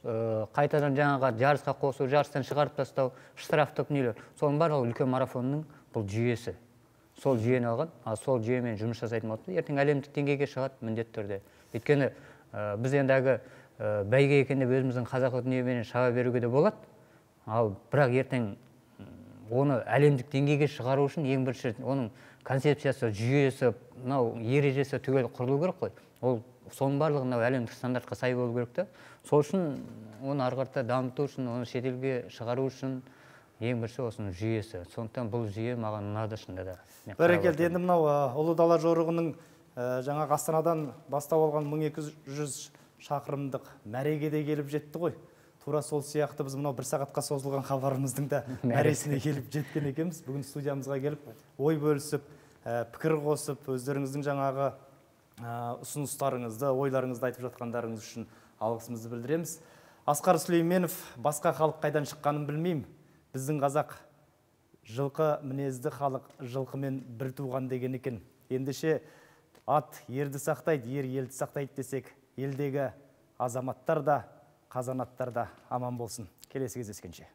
қайтадан жаңаға жарысқа қосу, жарыстан шығарып тастау, штрафтық нелер. Соның барлығы үлкен марафонның бұл жүйесі. Сол жүйені алған, а сол жүйемен жұмыс жасайтын болады. Ертең әлемдік деңгейге шығады міндетті түрде. Өйткені біз ендігі бәйге екен деп өзіміздің қазақы дүниемен шаба беруге де болады. Ал бірақ ертең оны әлемдік деңгейге шығару үшін ең бірінші оның концепциясы, жүйесі, мынау ережесі түгел құрылу керек қой. Ол соның барлығы мынау әлемдік стандартқа сай болу керек та. Сол үшін оны ары қарата дамыту үшін, оны шетелге шығару үшін ең бірінші осының жүйесі. Сондықтан бұл жүйе маған ұнады шынында да. Бәрекелді. Енді мынау ұлы дала жорығының жаңа Астанадан бастап алған мың екі жүз шақырымдық мәрегеде келіп жетті ғой. Тура сол сияқты біз мынау бір сағатқа созылған хабарымыздың да мәресіне келіп жеткен екенбіз. Бүгін студиямызға келіп, ой бөлісіп, пікір қосып, өздеріңіздің жаңағы ұсыныстарыңызды, ойларыңызды айтып жатқандарыңыз үшін алғысымызды білдіреміз. Асқар Сүлейменов, басқа халық қайдан шыққанын білмеймін. Біздің қазақ жылқы мінезді халық, жылқымен бір туған деген екен. Ендеше ат ерді сақтайды, ер елді сақтайды десек, елдегі азаматтар да, қазанаттар да аман болсын. Келесі кездескенше.